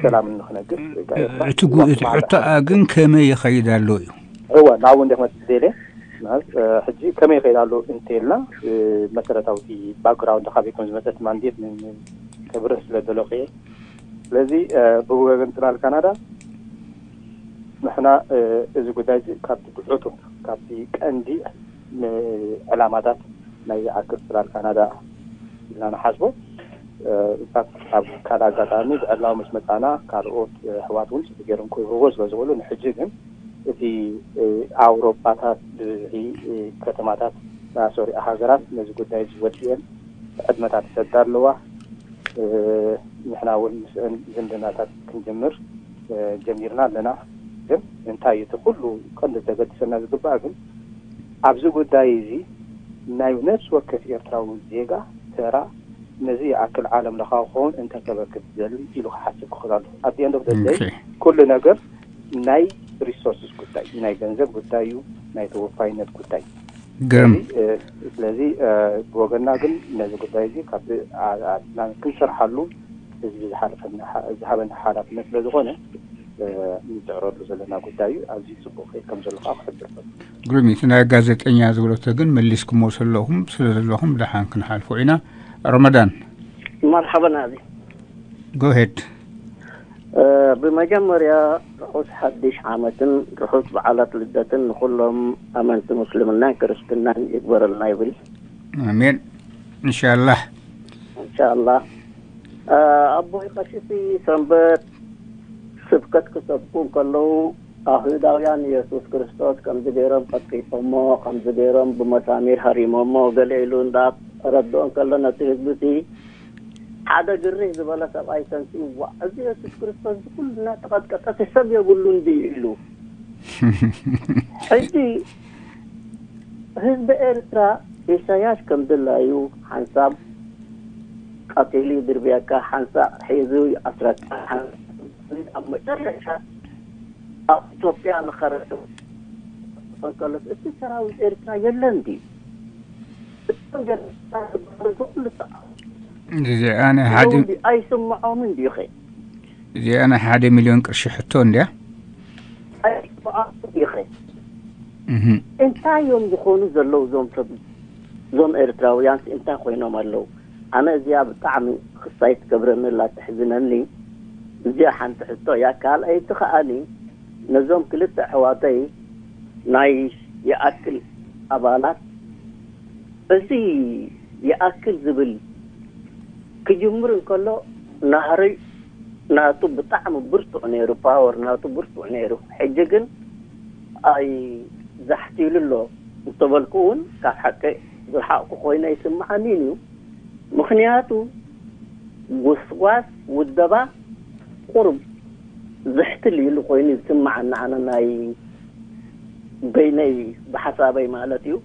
ሰላምን ንክነግስ ወይ ከዓ ኤርትራ እቲ ጉ- እቲ ሕቶ ግን ከመይ ይኸይድ ኣሎ እዩ። እወ ናብኡ እንደ ክመፅእ ደልየ ማለት ሕጂ ከመይ ይኸይድ ኣሎ እንተልና፣ መሰረታዊ ባክግራውንድ ካበይ ከም ዝመፀት ማንዴት ከብርህ ስለ ደለኹ እየ። ስለዚ ብወገን ፅላል ካናዳ ንሕና እዚ ጉዳይ እዚ ካብቲ ዕቱብ ካብቲ ቀንዲ ዕላማታት ናይ ዝኣክል ፅላል ካናዳ ኢልና ንሓስቦ። ኣብ ካልእ ኣጋጣሚ ብዕላዊ ምስ መፃና ካልኦት ኣሕዋት እውን ፅቡቅ ገይሮም ክህብዎ ስለ ዝኽእሉ፣ ንሕጂ ግን እቲ ኣውሮፓታት ብብዝሒ ከተማታት ሶሪ ሃገራት ነዚ ጉዳይ እዚ ወዲአን ዕድመታት ይሰዳ ኣለዋ። ንሕና እውን ምስአን ዝምድናታት ክንጅምር ጀሚርና ኣለና። ግን እንታይ እቲ ኩሉ ቀንዲ ዘገድሰና ዝግባእ ግን ኣብዚ ጉዳይ እዚ ናይ ነፍሲ ወከፍ ኤርትራዊ ዜጋ ተራ ነዚ ይኣክል ዓለም ለኻዊ ክኸውን እንታይ ከበርክት ዝደሊ ኢሉ ክሓስብ ክኽእል ኣለዎ። ኣብ the end of the day ኩሉ ነገር ናይ ሪሶርስስ ጉዳይ ናይ ገንዘብ ጉዳይ እዩ፣ ናይ ተወፋይነት ጉዳይ። ስለዚ ብወገና ግን ነዚ ጉዳይ እዚ ካብ ክንሰርሓሉ ህዝቢ ዝሃበና ሓላፍነት ስለ ዝኾነ ንፅዕረሉ ዘለና ጉዳይ እዩ። ኣዝዩ ፅቡቅ ከይድ ከም ዘሎ ከዓ ክሕብር። ግሩም እዩ። እቲ ናይ ጋዜጠኛ ዝበለቶ ግን መሊስኩሞ ዘለኹም ስለ ዘለኹም ደሓን ክንሓልፎ ኢና። ረመዳን። መርሓባ ናዚ። ጎሄድ። ብመጀመርያ ርሑስ ሓድሽ ዓመትን ርሑስ በዓላት ልደትን ንኹሎም ኣመንቲ ምስልምናን ክርስትናን ይግበረልና ይብል። ኣሜን። እንሻላህ። እንሻላህ። ኣቦይ ቀሺሲ ሰንበት ስብከት ክሰብኩ እንከለዉ ኣይሁዳውያን የሱስ ክርስቶስ ከምዚ ገይሮም ቀጥቂጦሞ ከምዚ ገይሮም ብመሳሚር ሃሪሞሞ ገለ ኢሉ እንዳ ረድኦ እንከሎ ነቲ ህዝቢ እቲ ሓደ ግርህ ዝበለ ሰብኣይ ተንሲኡ ዋዕ እዚ የሱስ ክርስቶስ እዚ ኩሉ እናተቐጥቀጠ እቲ ሰብ የብሉን ድዩ ኢሉ። ሕጂ ህዝቢ ኤርትራ ኢሳያስ ከም ድላዩ ሓንሳብ ቀቲሉ ይድርብየካ፣ ሓንሳብ ሒዙ ይኣስረካ፣ ኣብ መጨረሻ ኣብ ኢትዮጵያ ንኸረድ እንከሎስ እቲ ሰራዊት ኤርትራ የለን ድዩ? እቶም ጀነራል ዝበሃሉ ኩሉ ሰ- እዚኣ ናይ ሓደ ኣለዉ ድዩ? ኣይስምዖምን ድዩ ኸ? እዚኣ ናይ ሓደ ሚልዮን ቅርሺ ሕቶ እንድያ። ኣይስምዖምን ድዩ ኸ? እህ። እንታይ እዮም ዝኾኑ ዘለዉ እዞም ሰብ እዞም ኤርትራውያንስ እንታይ ኮይኖም ኣለዉ? ኣነ እዚኣ ብጣዕሚ ክሳይ ትገብረኒ ኣላ ትሕዝነኒ። እዚኣ ሓንቲ ሕቶ እያ። ካልኣይቲ ከኣኒ ነዞም ክልተ ኣሕዋተይ ናይ ይኣክል ኣባላት እዚ ይኣክል ዝብል ክጅምር እንከሎ ናህሪ ናቱ ብጣዕሚ ብርቱዕ ነይሩ፣ ፓወር ናቱ ብርቱዕ ነይሩ። ሕጂ ግን ኣይ ዛሕቲሉ ኣሎ እንተበልኩ እውን ካብ ሓቂ ዝረሓቕኩ ኮይነ ይስምዓኒን እዩ። ምኽንያቱ ጎስጓስ ውደባ ቁሩብ ዝሕትል ኢሉ ኮይኑ ዝስምዓኒ ኣነ ናይ በይነይ ብሓሳበይ ማለት እዩ።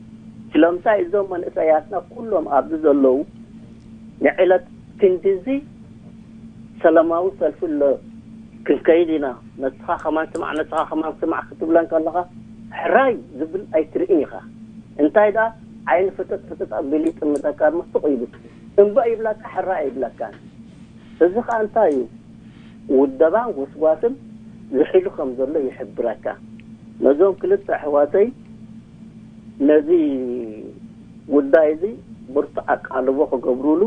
ስለምንታይ እዞም መንእሰያትና ኩሎም ኣብዚ ዘለዉ ንዕለት ክንድዚ ሰላማዊ ሰልፊ ኣሎ ክንከይድ ኢና፣ ነስኻ ከማን ስማዕ፣ ነስኻ ከማን ስማዕ ክትብለን ከለኻ ሕራይ ዝብል ኣይትርእን ኢኻ። እንታይ ደኣ ዓይኒ ፍጥጥ ፍጥጥ ኣቢሉ ይጥምተካ፣ ምስቕ ይብል እምበእ ይብለካ፣ ሕራይ ኣይብለካን። እዚ ኸኣ እንታይ እዩ? ውደባን ጎስጓስን ዝሒሉ ከም ዘሎ ይሕብረካ። ነዞም ክልተ ኣሕዋተይ ነዚ ጉዳይ እዚ ብርቱዕ ኣቃልቦ ክገብሩሉ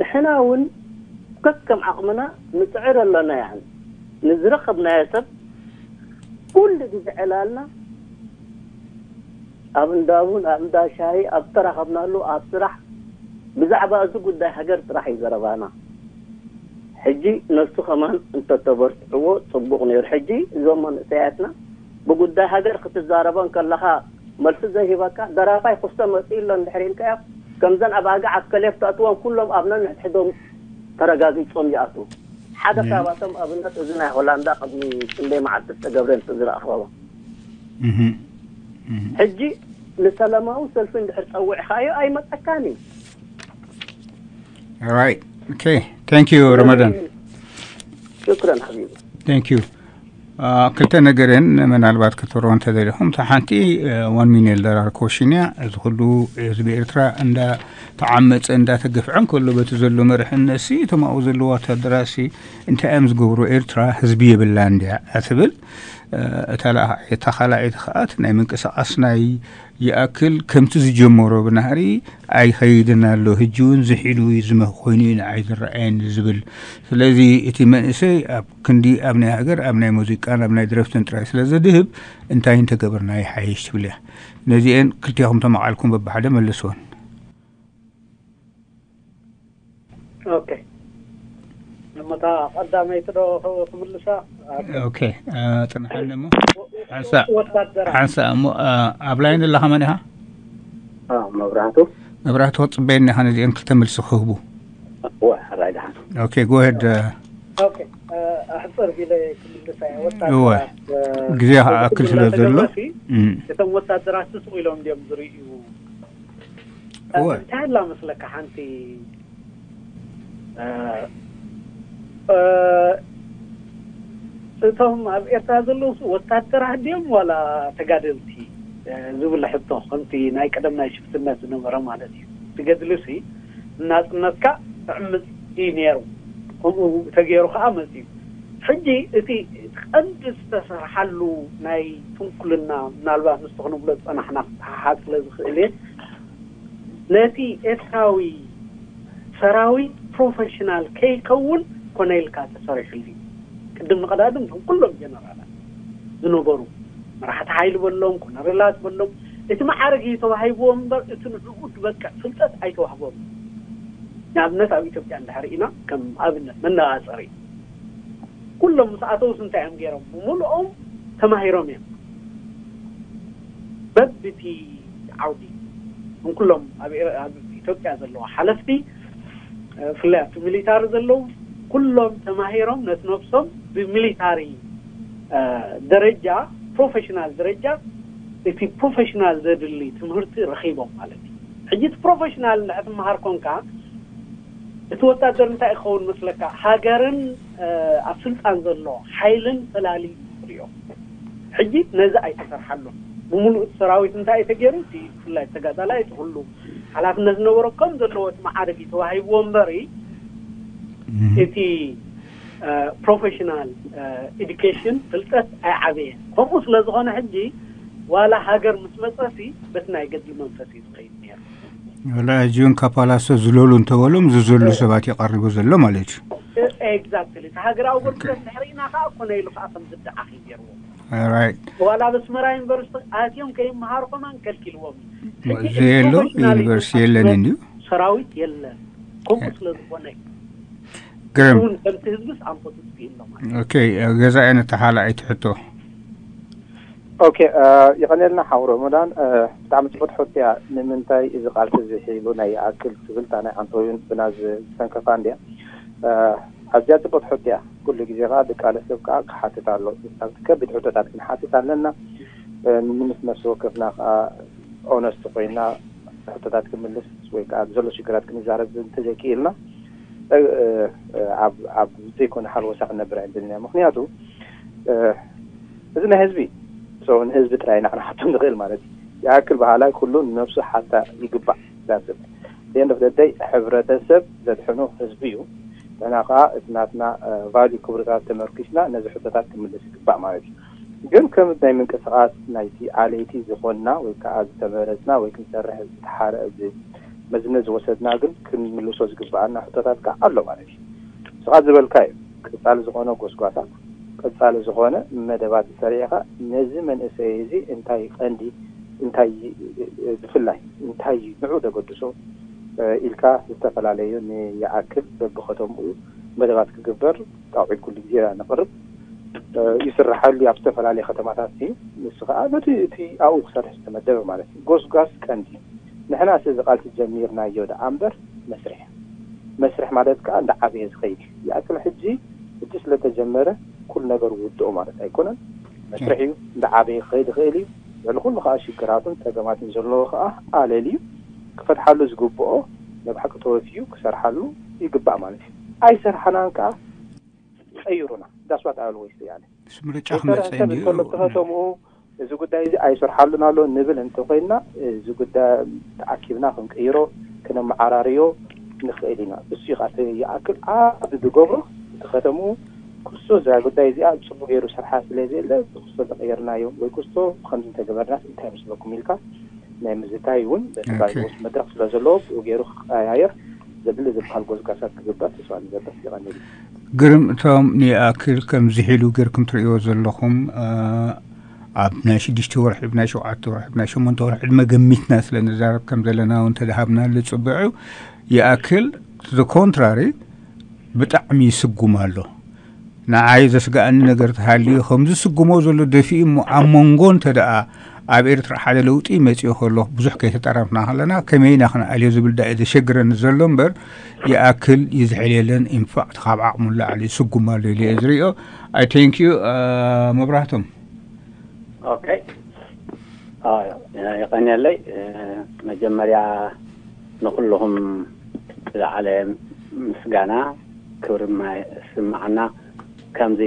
ንሕና እውን ከከም ዓቕምና ንፅዕር ኣለና። ያን ንዝረኸብናዮ ሰብ ኩሉ ግዜ ዕላልና ኣብ እንዳ ቡን፣ ኣብ እንዳ ሻሂ፣ ኣብ ተራኸብናሉ፣ ኣብ ስራሕ ብዛዕባ እዚ ጉዳይ ሃገር ጥራሕ እዩ ዘረባና። ሕጂ ነሱ ከማን እንተተበርትዕዎ ጽቡቕ ነይሩ። ሕጂ እዞም መንእሰያትና ብጉዳይ ሃገር ክትዛረቦ እንከለኻ መልሲ ዘይህበካ ደራፋይ ክስተ መጺኡ ኣሎ እንድሕር ኢልካዮ፣ ከምዘን ኣባግዕ ኣብ ከሌፍ ተእትዎም ኩሎም ኣብ ነንሕድሕዶም ተረጋጊጾም ይኣትዉ። ሓደ ካብኣቶም ኣብነት እዚ ናይ ሆላንዳ ቅድሚ ክንደይ መዓልቲ ዝተገብረ እንተ ዝረኣኽዎ። ሕጂ ንሰላማዊ ሰልፊ እንድሕር ጸዊዕኻዮ ኣይመጸካን እዩ። Right. Okay. Thank you, Ramadan. ሽክረን ሓቢቢ። Thank you. ክልተ ነገር እየን ምናልባት ክትብሮ እንተደሊኹም፣ እታ ሓንቲ ዋን ሚሊዮን ዶላር ኮሽን እያ። እዚ ኩሉ ህዝቢ ኤርትራ እንዳተዓመፀ እንዳተገፍዐ እንከሎ በቲ ዘሎ መርሕነት ሲ እቶም ኣብኡ ዘለዉ ወታደራት ሲ እንታይ እዮም ዝገብሩ? ኤርትራ ህዝቢ የብላን እንድያ ትብል። እታ ካልኣይቲ ከኣ ናይ ምንቅስቃስ ናይ ይኣክል ከምቲ ዝጀመሮ ብናህሪ ኣይኸይድን ኣሎ። ሕጂ እውን ዝሒሉ እዩ ዝመ- ኮይኑ እዩ ንዓይ ዝረኣየኒ ዝብል። ስለዚ እቲ መንእሰይ ኣብ ክንዲ ኣብ ናይ ሃገር ኣብ ናይ ሙዚቃን ኣብ ናይ ድረፍትን ጥራይ ስለ ዘድህብ እንታይ እንተገበርና ይሓይሽ ትብል እያ። ነዚአን ክልቲኹም ተመቓልኩም በብሓደ መልስወን። ኦኬ። እሞ እታ ቀዳመይቲ ዶ ክምልሳ? ኦኬ። ጽንሓኒ እሞ ሓንሳእ ሓንሳእ እሞ ኣብ ላይን ኣለኻ መን ኢኻ? መብራህቱ መብራህቱ ክጽበየኒ ኢኻ ነዚአን ክልተ መልሲ ክህቡ። እወ ሕራይ ደሓን። ኦኬ፣ ጎሄድ። ኦኬ። ኣሕፅር ቢለ ክምልሳ እየ። ወታደራት ግዜ ክኣክል ስለ ዘሎ እቶም ወታደራት ስስቕ ኢሎም እንዲዮም ዝርእዩ። እንታይ ኣላ መስለካ ሓንቲ እቶም ኣብ ኤርትራ ዘለዉ ወታደራት ድዮም ዋላ ተጋደልቲ ዝብል ሕቶ ከምቲ ናይ ቀደም ናይ ሽፍትነት ዝነበረ ማለት እዩ። ትገድልሲ ናጽነትካ ትዕምጽ እዩ ነይሩ። ከምኡ ተገይሩ ከዓ መጽዩ። ሕጂ እቲ ቀንዲ ዝተሰርሓሉ ናይ ትንኩልና ምናልባት ምስቲ ክንብሎ ዝጸናሕና ክተሓሓዝ ስለ ዝኽእል እየ ነቲ ኤርትራዊ ሰራዊት ፕሮፌሽናል ከይከውን ኮነ ኢልካ ተሰሪሕሉ እዩ። ቅድም ንቐዳድም እቶም ኩሎም ጀነራላት ዝነበሩ መራሕቲ ሓይሊ በሎም ኮነሬላት በሎም እቲ መዓርግ እዩ ተዋሂብዎም እምበር እቲ ንዕኡ ዝበቅዕ ፍልጠት ኣይተዋህቦም። ንኣብነት ኣብ ኢትዮጵያ እንድሕር ኢና ከም ኣብነት መነፃፀሪ ኩሎም ምስ ኣተውስ እንታይ እዮም ገይሮም? ብምልኦም ተማሂሮም እዮም። በብቲ ዓውዲ ንኩሎም ኣብ ኢትዮጵያ ዘለዋ ሓለፍቲ ብፍላይ ኣብቲ ሚሊታሪ ዘለዉ ኩሎም ተማሂሮም ነቲ ነብሶም ብሚሊታሪ ደረጃ ፕሮፌሽናል ደረጃ እቲ ፕሮፌሽናል ዘድሊ ትምህርቲ ረኺቦም ማለት እዩ። ሕጂ እቲ ፕሮፌሽናል እንድሕር ትመሃር ኮንካ እቲ ወታደር እንታይ ይኸውን መስለካ? ሃገርን ኣብ ስልጣን ዘሎ ሓይልን ፈላሊ ሪኦ። ሕጂ ነዚ ኣይተሰርሓሉን። ብምሉእ እቲ ሰራዊት እንታይ እዩ ተገይሩ? እቲ ብፍላይ ተጋዳላይ እቲ ኩሉ ሓላፍነት ዝነበሮ ከም ዘለዎ እቲ መዓርግ እዩ ተዋሂብዎ እምበሪ እቲ ፕሮፌሽናል ኤዱኬሽን ፍልጠት ኣይዓበየን። ከምኡ ስለ ዝኾነ ሕጂ ዋላ ሃገር ምስ መፀሲ በቲ ናይ ገድሊ መንፈስ እዩ ዝኸይድ ነይሩ። ወላ ሕጂ እውን ካፓላሶ ዝለሉ እንተበሎም ዝዘሉ ሰባት ይቐርቡ ዘሎ ማለት እዩ። ኤግዛክትሊ እቲ ሃገራዊ ኣገልግሎት ድሕሪና ከዓ ኮነ ኢሉ ከዓ ከም ዝደዓኽ እዩ ገይርዎ። ራይት ዋላ ኣብ ኣስመራ ዩኒቨርሲቲ ኣትዮም ከይመሃሩ ከማን ከልኪልዎም እዩ። ሕጂ እዚ የሎ ፕሮፌሽናል ዩኒቨርሲቲ የለን እንድዩ ሰራዊት የለን። ከምኡ ስለ ዝኾነ እዩ። ግርም እውን ከምቲ ህዝብስ ኣንፈቱ ዝግእሎ ማለት እዩ። ኦኬ ገዛኢ ነተሓላኣይቲ ሕቶ ኦኬ። ይቐንየልና ሓው ረመዳን። ብጣዕሚ ፅቡቅ ሕቶ እያ። ንምንታይ እዚ ቃልሲ እዚ ሒሉ ናይ ይኣክል ትብል እታ ናይ ኣንቶዮን ብና ዝሰንከፋ እንድያ። ኣዝያ ፅቡቅ ሕቶ እያ። ኩሉ ግዜ ከዓ ድቃለ ሰብ ከዓ ክሓትት ኣሎ። ኣብቲ ከቢድ ሕቶታት ክንሓትት ኣለና። ንምስ ነፍሲ ወከፍና ከዓ ኦነስት ኮይና ሕቶታት ክምልስ ወይ ከዓ ዘሎ ሽግራት ክንዛረብ እንተዘይክኢልና ኣብ ዘይኮነ ሓልወሳ ክነብር ኣይንደልን ኢና። ምክንያቱ እዚ ናይ ህዝቢ ንህዝቢ ጥራይ ኢና ክንሓቶ ንኽእል ማለት እዩ። ይኣክል በሃላይ ኩሉ ንነብሱ ሓታ ይግባእ። ዳስብ ደንደፍ ደደይ ሕብረተሰብ ዘድሕኑ ህዝቢ እዩ። ንሕና ከዓ እቲ ናትና ቫልዩ ክብርታት ተመርኪስና ነዚ ሕቶታት ክምልስ ይግባእ ማለት እዩ። ግን ከም ናይ ምንቅስቃስ ናይቲ ኣለይቲ ዝኾንና ወይ ከዓ ዝተመረፅና ወይ ክንሰርሕ ዝተሓረ መዝነት ዝወሰድና ግን ክንምልሶ ዝግበኣና ሕቶታት ከዓ ኣሎ ማለት እዩ። ንስኻ ዝበልካ እዩ። ቀፃሊ ዝኾነ ጎስጓሳት፣ ቀፃሊ ዝኾነ መደባት ሰሪዕኻ ነዚ መንእሰይ እዚ እንታይ ቀንዲ እንታይ ብፍላይ እንታይ ንዑ ዘገድሶ ኢልካ ዝተፈላለዩ ንይኣክል በብኸተምኡ መደባት ክግበር ጣውዒት ኩሉ ግዜ ነቕርብ። ይስራሓሉ ኣብ ዝተፈላለዩ ከተማታት እዩ። ንሱ ከዓ ነቲ እቲ ኣብኡ ክሰርሕ ዝተመደበ ማለት እዩ። ጎስጓስ ቀንዲ ንሕና እዚ ቃልሲ ጀሚርናዮ ደኣ እምበር መስርሕ መስርሕ ማለት ከዓ እንዳዓበየ ዝኸይድ እዩ። ይኣክል ሕጂ ሕጂ ስለተጀመረ ኩሉ ነገር ውድኦ ማለት ኣይኮነን። መስርሕ እዩ፣ እንዳዓበየ ክኸይድ ይኽእል እዩ። ልዕሊ ኩሉ ከዓ ሽግራትን ፀገማትን ዘለዎ ከዓ ኣለል እዩ። ክፈትሓሉ ዝግብኦ ናይ ብሓቂ ተወፊዩ ክሰርሓሉ ይግባእ ማለት እዩ። ኣይሰርሓናን ከዓ ቀይሩና። That's what I always say ኣነ። ምስ ምርጫ ክመፅእ እንዲዩ። እቲ ከተምኡ እዚ ጉዳይ እዚ ኣይሰርሓሉን ኣሎ ንብል እንተኮይንና፣ እዚ ጉዳይ ተኣኪብና ክንቅይሮ፣ ክነመዓራርዮ ንኽእል ኢና። እሱ እዩ ከዓ ይኣክል ኣብ ዝገብሮ። እቲ ከተምኡ ክስቶ እዛ ጉዳይ እዚኣ ብፅቡቅ ገይሩ ሰርሓ ስለ ዘየለ፣ ክስቶ ተቀየርናዮ ወይ ክስቶ ከምዚ እንተገበርናስ እንታይ መስለኩም ኢልካ ናይ ምዝታይ እውን በቲ መድረክ ስለ ዘለዎ ብኡ ገይሩ ክቀያየር ዘድሊ ዝበሃል ጎዝጋሳት ክግበር ተስፋ ንገብር። ይቐንል። ግርም፣ እቶም ንኣክል ከምዚ ሒሉ ገርኩም ትርእይዎ ዘለኹም ኣብ ናይ ሽዱሽተ ወርሒ፣ ናይ ሸውዓተ ወርሒ፣ ናይ ሸሞንተ ወርሒ ዕድመ ገሚትና ስለ ንዛረብ ከም ዘለና እውን ተደሃብናሉ ጽቡዕ እዩ። ይኣክል the contrary ብጣዕሚ ይስጉም ኣሎ። ንዓይ ዘስግኣኒ ነገር ተሃልዩ ከምዚ ዝስጉሞ ዘሎ ደፊኡ እሞ ኣብ መንጎ እንተ ደኣ ኣብ ኤርትራ ሓደ ለውጢ መጺኡ ከሎ ብዙሕ ከይተጠራምና ከለና ከመይ ኢና ክንኣልዮ ዝብል ዳእ ዘሸግረኒ ዘሎ እምበር ይኣክል ይዝሕል የለን። ኢንፋክት ካብ ዓቕሙ ንላዕሊ ይስጉም ኣሎ ኢለ እየ ዝርእዮ። I thank you መብራህቶም። ኦኬ የቐንየለይ። መጀመርያ ንኩልኹም ዝለዓለ ምስጋና ክብሪ ስምዓና። ከምዚ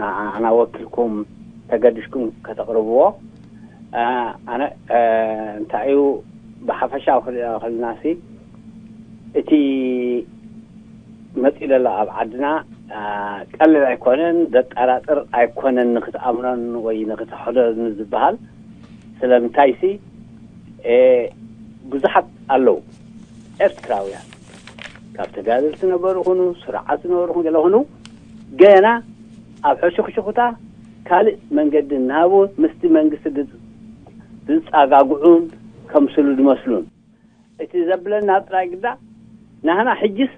ንዓና ወኪልኩም ተገዲሽኩም ከተቕርብዎ ኣነ እንታይ እዩ ብሓፈሻዊ ክሪኦ ከለናሲ እቲ መፂኡ ዘሎ ኣብ ዓድና ቀልል ኣይኮነን፣ ዘጠራጥር ኣይኮነን። ንክትኣምኖን ወይ ንክትሕደን ዝበሃል ስለምንታይሲ ብዙሓት ኣለዉ ኤርትራውያን ካብ ተጋደልቲ ነበሩ ይኹኑ ስርዓት ዝነበሩ ይኹኑ ገለ ይኹኑ ገና ኣብ ሕሹኽሹኽታ ካልእ መንገዲ እናሃቡ ምስቲ መንግስቲ ዝፃጋግዑን ከምስሉ ዝመስሉን እቲ ዘብለና ጥራይ ግዳ ናህና ሕጅስ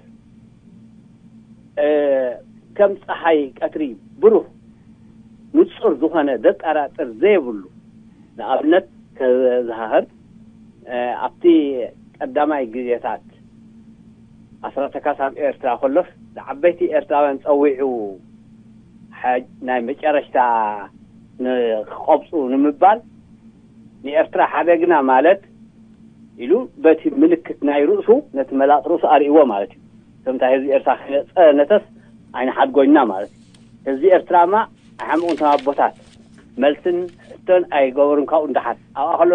ከም ፀሓይ ቀትሪ ብሩህ ንፁር ዝኾነ ዘጠራጥር ዘይብሉ ንኣብነት ከዘሃህር ኣብቲ ቀዳማይ ግዜታት ኣስራተ ካሳብ ኤርትራ ከሎስ ዝዓበይቲ ኤርትራውያን ፀዊዑ ናይ መጨረሽታ ንክቆብፁ ንምባል ንኤርትራ ሓደግና ማለት ኢሉ በቲ ምልክት ናይ ርእሱ ነቲ መላጥ ርእሱ ኣርእዎ ማለት እዩ። ከምታ ህዝቢ ኤርትራ ከይነፀነተስ ኣይንሓድጎና ማለት እዩ። ህዝቢ ኤርትራማ ኣይሓምቑን ተማቦታት መልስን ሕቶን ኣይገበሩን። ካብኡ ንደሓር ኣብኣ ከሎ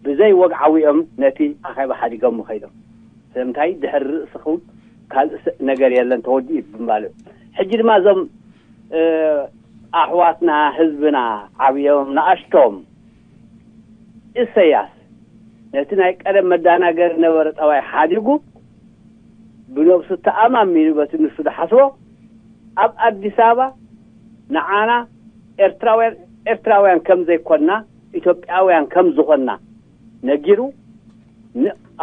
ብዘይ ወግዓዊ እዮም ነቲ ኣኼባ ሓዲጎም ከይዶም። ስለምንታይ ድሕሪ ርእስኹም ካልእ ነገር የለን ተወዲኡ ብምባል እዩ። ሕጂ ድማ እዞም ኣሕዋትና ህዝብና ዓብዮም ንኣሽቶም እሰያስ ነቲ ናይ ቀደም መዳናገሪ ነበረ ጠባይ ሓዲጉ ብነብሱ ተኣማሚኑ በቲ ንሱ ዝሓስቦ ኣብ ኣዲስ ኣበባ ንዓና ኤርትራውያን ኤርትራውያን ከም ዘይኮንና ኢትዮጵያውያን ከም ዝኾንና ነጊሩ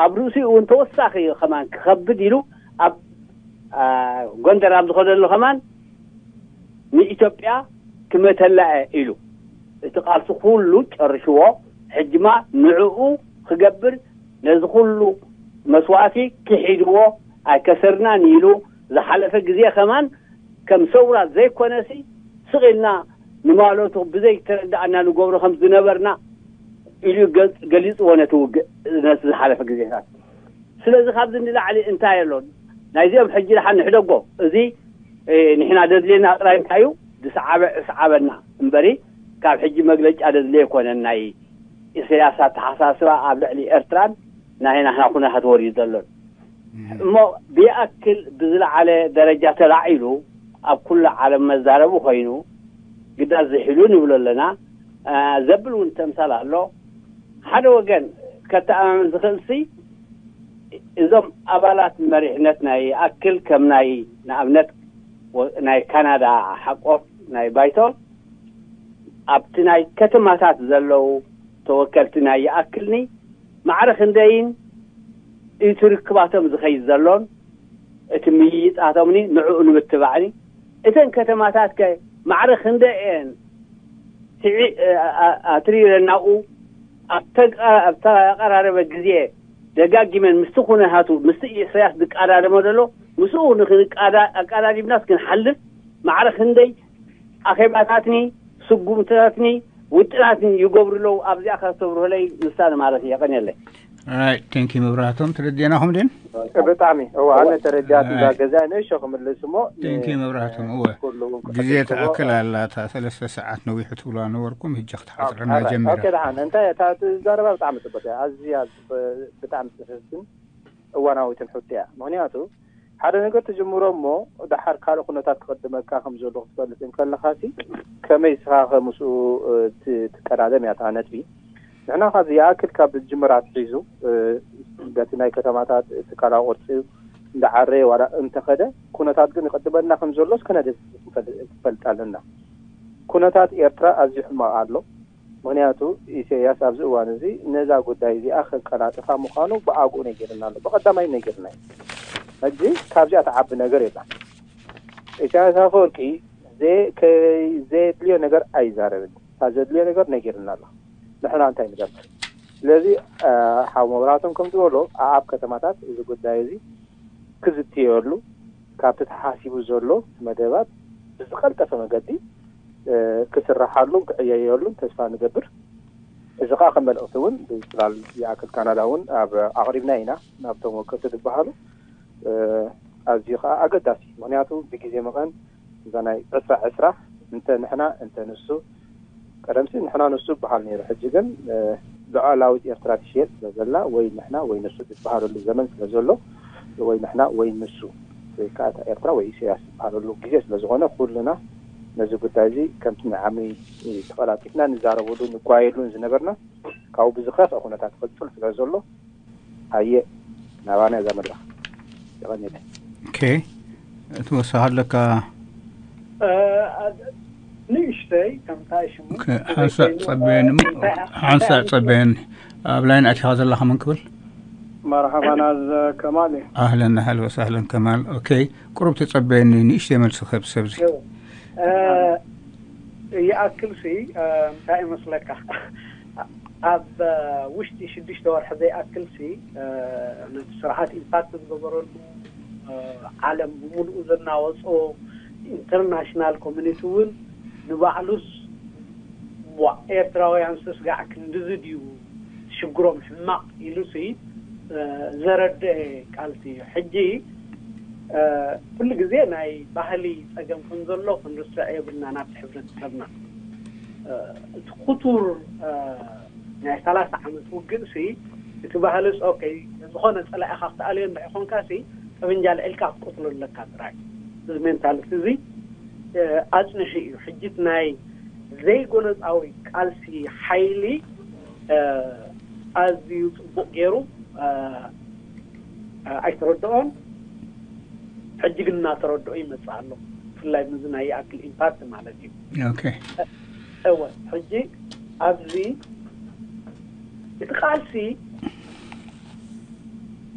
ኣብ ርእሲኡ እውን ተወሳኺ ከማን ክኸብድ ኢሉ ኣብ ጎንደር ኣብ ዝኸደሉ ከማን ንኢትዮጵያ ክመተላ እየ ኢሉ እቲ ቃልሲ ኩሉ ጨርሽዎ። ሕጅማ ንዕኡ ክገብር ነዚ ኩሉ መስዋእቲ ክሒድዎ ኣይከሰርናን ኢሉ ዝሓለፈ ግዜ ከማን ከም ሰውራ ዘይኮነሲ ስቕ ኢልና ንማለቱ ብዘይ ተረዳእና ንገብሮ ከም ዝነበርና ኢሉ ገሊፅዎ ነቲ ውግእ ነቲ ዝሓለፈ ግዜታት። ስለዚ ካብዚ ንላዕሊ እንታይ ኣሎ? ናይዚኦም ሕጂ ደሓን ንሕደጎ። እዚ ንሕና ደድልየና ጥራይ እንታይ እዩ? ዝሰዓበ እስዓበና እምበሪ ካብ ሕጂ መግለጫ ደድልየ ኣይኮነን። ናይ ኢሳያስ ኣተሓሳስባ ኣብ ልዕሊ ኤርትራን ናይ ናህና ኩነታት ወሪዱ ዘሎን እሞ ብይኣክል ብዝለዓለ ደረጃ ተላዒሉ ኣብ ኩሉ ዓለም መዛረቢ ኮይኑ ግዳ ዝሒሉ ንብሎ ኣለና። ዘብል እውን ተምሳል ኣሎ። ሓደ ወገን ከተኣማምን ዝኽእልሲ እዞም ኣባላት መሪሕነት ናይ ይኣክል ከም ናይ ንኣብነት ናይ ካናዳ ሓቆፍ ናይ ባይቶ ኣብቲ ናይ ከተማታት ዘለዉ ተወከልቲ ናይ ይኣክልኒ ማዕረ ክንደይን እቲ ርክባቶም ዝኸይድ ዘሎን እቲ ምይይጣቶምኒ ንዕኡ ንምትባዕኒ እተን ከተማታት ከ ማዕረ ክንደይ እየን ኣትሪረናኡ ኣብ ተቀራረበ ግዜ ደጋጊመን ምስቲ ኩነታቱ ምስቲ ኢሳያስ ዝቀዳደሞ ዘሎ ምስኡ ንክንቃዳ ኣቃዳዲምናስ ክንሓልፍ ማዕረ ክንደይ ኣኼባታትኒ ስጉምትታትኒ ውጥናትኒ ይገብሩ ኣለዉ። ኣብዚኣ ከስተብርሁለይ ንሳ ንማለት እየ። ቀንየለይ። ራይት፣ ቴንኪ መብራህቶም። ተረዲእናኹም ድን? ብጣዕሚ እዋ፣ ኣነ ተረዲኣት እዛ ገዛ ንእሾ ክምልስ እሞ ቴንኪ መብራህቶም። እወ፣ ግዜ ትኣክል ኣላታ። ሰለስተ ሰዓት ነዊሑ ትብሉ ነበርኩም፣ ህጂ ክትሓፅረና ጀሚራ። ደሓን። እንታይ እታ ትዛረባ ብጣዕሚ ፅቡቅ እያ። ኣዝያ ብጣዕሚ ፅፍፍትን እዋናዊትን ሕቶ እያ። ምክንያቱ ሓደ ነገር ትጅምሮ እሞ ደሓር ካልእ ኩነታት ክቅድመካ ከም ዘሎ ክትፈልጥ እንከለኻሲ ከመይ ስኻ ከምስኡ ትቀዳደም እያ እታ ነጥቢ። ንሕና ካብ ዝይኣክል ካብ ዝጅምር ኣትሒዙ በቲ ናይ ከተማታት ትካላዊ ቅርፂ እንዳዓረየ ዋላ እንተኸደ ኩነታት ግን ይቅድመና ከም ዘሎስ ከነደ ክፈልጥ ኣለና። ኩነታት ኤርትራ ኣዝዩ ሕማቕ ኣሎ። ምክንያቱ ኢሳያስ ኣብዚ እዋን እዚ ነዛ ጉዳይ እዚኣ ከቀላጥፋ ምዃኑ ብኣግኡ ነጊርና ኣሎ። ብቀዳማይ ነጊርና እዩ። ሕጂ ካብዚኣ ትዓቢ ነገር የላን። ኢሳያስ ኣፈወርቂ ዘየድልዮ ነገር ኣይዛረብን። ካብ ዘድልዮ ነገር ነጊርና ኣሎ። ንሕና እንታይ ንገብር? ስለዚ ሓው መብራቶም ከም ዝበሎ ኣብ ከተማታት እዚ ጉዳይ እዚ ክዝትየሉ ካብቲ ተሓሲቡ ዘሎ መደባት ብዝቀልጠፈ መገዲ ክስራሓሉን ክዕየየሉን ተስፋ ንገብር። እዚ ከዓ ከም መልእክቲ እውን ብፅላል ይኣክል ካናዳ እውን ኣብ ኣቅሪብና ኢና ናብቶም ወከልቲ ዝበሃሉ ኣዝዩ ከዓ ኣገዳሲ። ምክንያቱ ብግዜ መቐን እዛ ናይ ዕስራ ዕስራ እንተ ንሕና እንተ ንሱ ቀደምሲ ንሕና ንሱ ይበሃል ነይሩ። ሕጂ ግን ሉዓላዊት ኤርትራ ትሽየጥ ስለ ዘላ ወይ ንሕና ወይ ንሱ ዝበሃለሉ ዘመን ስለ ዘሎ ወይ ንሕና ወይ ንሱ ወይ ከዓ እታ ኤርትራ ወይ ኢሳያስ ዝበሃለሉ ግዜ ስለ ዝኾነ ኩልና ነዚ ጉዳይ እዚ ከምቲ ንዓሚ ተቐላጢፍና ንዛረበሉ ንጓየሉን ዝነበርና ካብኡ ብዝኸፍአ ኩነታት ክቕፅል ስለ ዘሎ ኣየ ናባና እዛ መድረኽ የቐንየለይ። ኦኬ፣ እቲ ወሳኺ ኣለካ? ንእሽተይ ከምታይ ሽሙ ሓንሳእ ጸበየኒ ሓንሳእ ጸበየኒ ኣብ ላይን ኣቲኻ ዘለኻ መን ክብል? መርሓባ ናዝ ከማል እዩ። ኣህለን ኣህል ወሳህለን ከማል። ኦኬ፣ ቁሩብ ተጸበየኒ ንእሽተይ መልሲ ክህብ ሰብዚ። ይኣክል ሲ እንታይ ይመስለካ ኣብ ውሽጢ ሽዱሽተ ወርሒ ዘይኣክል ሲ ነቲ ስርዓት ኢምፓክት ዝገበረሉ ዓለም ብምሉኡ ዘናወጾ ኢንተርናሽናል ኮሚኒቲ እውን ንባዕሉስ ዋ ኤርትራውያን ስስጋዕ ክንድዚ ድዩ ሽግሮም ሕማቕ ኢሉ ሲ ዘረድአ ቃልሲ እዩ። ሕጂ ኩሉ ግዜ ናይ ባህሊ ጸገም ከም ዘሎ ክንርስዕ የብልና ናብቲ ሕብረተሰብና እቲ ክቱር ናይ ሰላሳ ዓመት ውግእ ሲ እቲ ባህልስ ኦኬ ዝኾነ ጸላኢኻ ክትኣልዮ እንድሕር ኮንካ ሲ ጠበንጃ ልዕልካ ክትቆትሎ ኣለካ ጥራይ። እዚ ሜንታሊቲ እዚ ኣጽንሑ እዩ። ሕጂ ናይ ዘይጎነጻዊ ቃልሲ ሓይሊ ኣዝዩ ጽቡቕ ገይሩ ኣይተረድኦን። ሕጂ ግን እናተረድኦ ይመጽእ ኣሎ። ብፍላይ ምዚ ናይ ይኣክል ኢምፓክት ማለት እዩ። ኦኬ እወ ሕጂ ኣብዚ እቲ ቃልሲ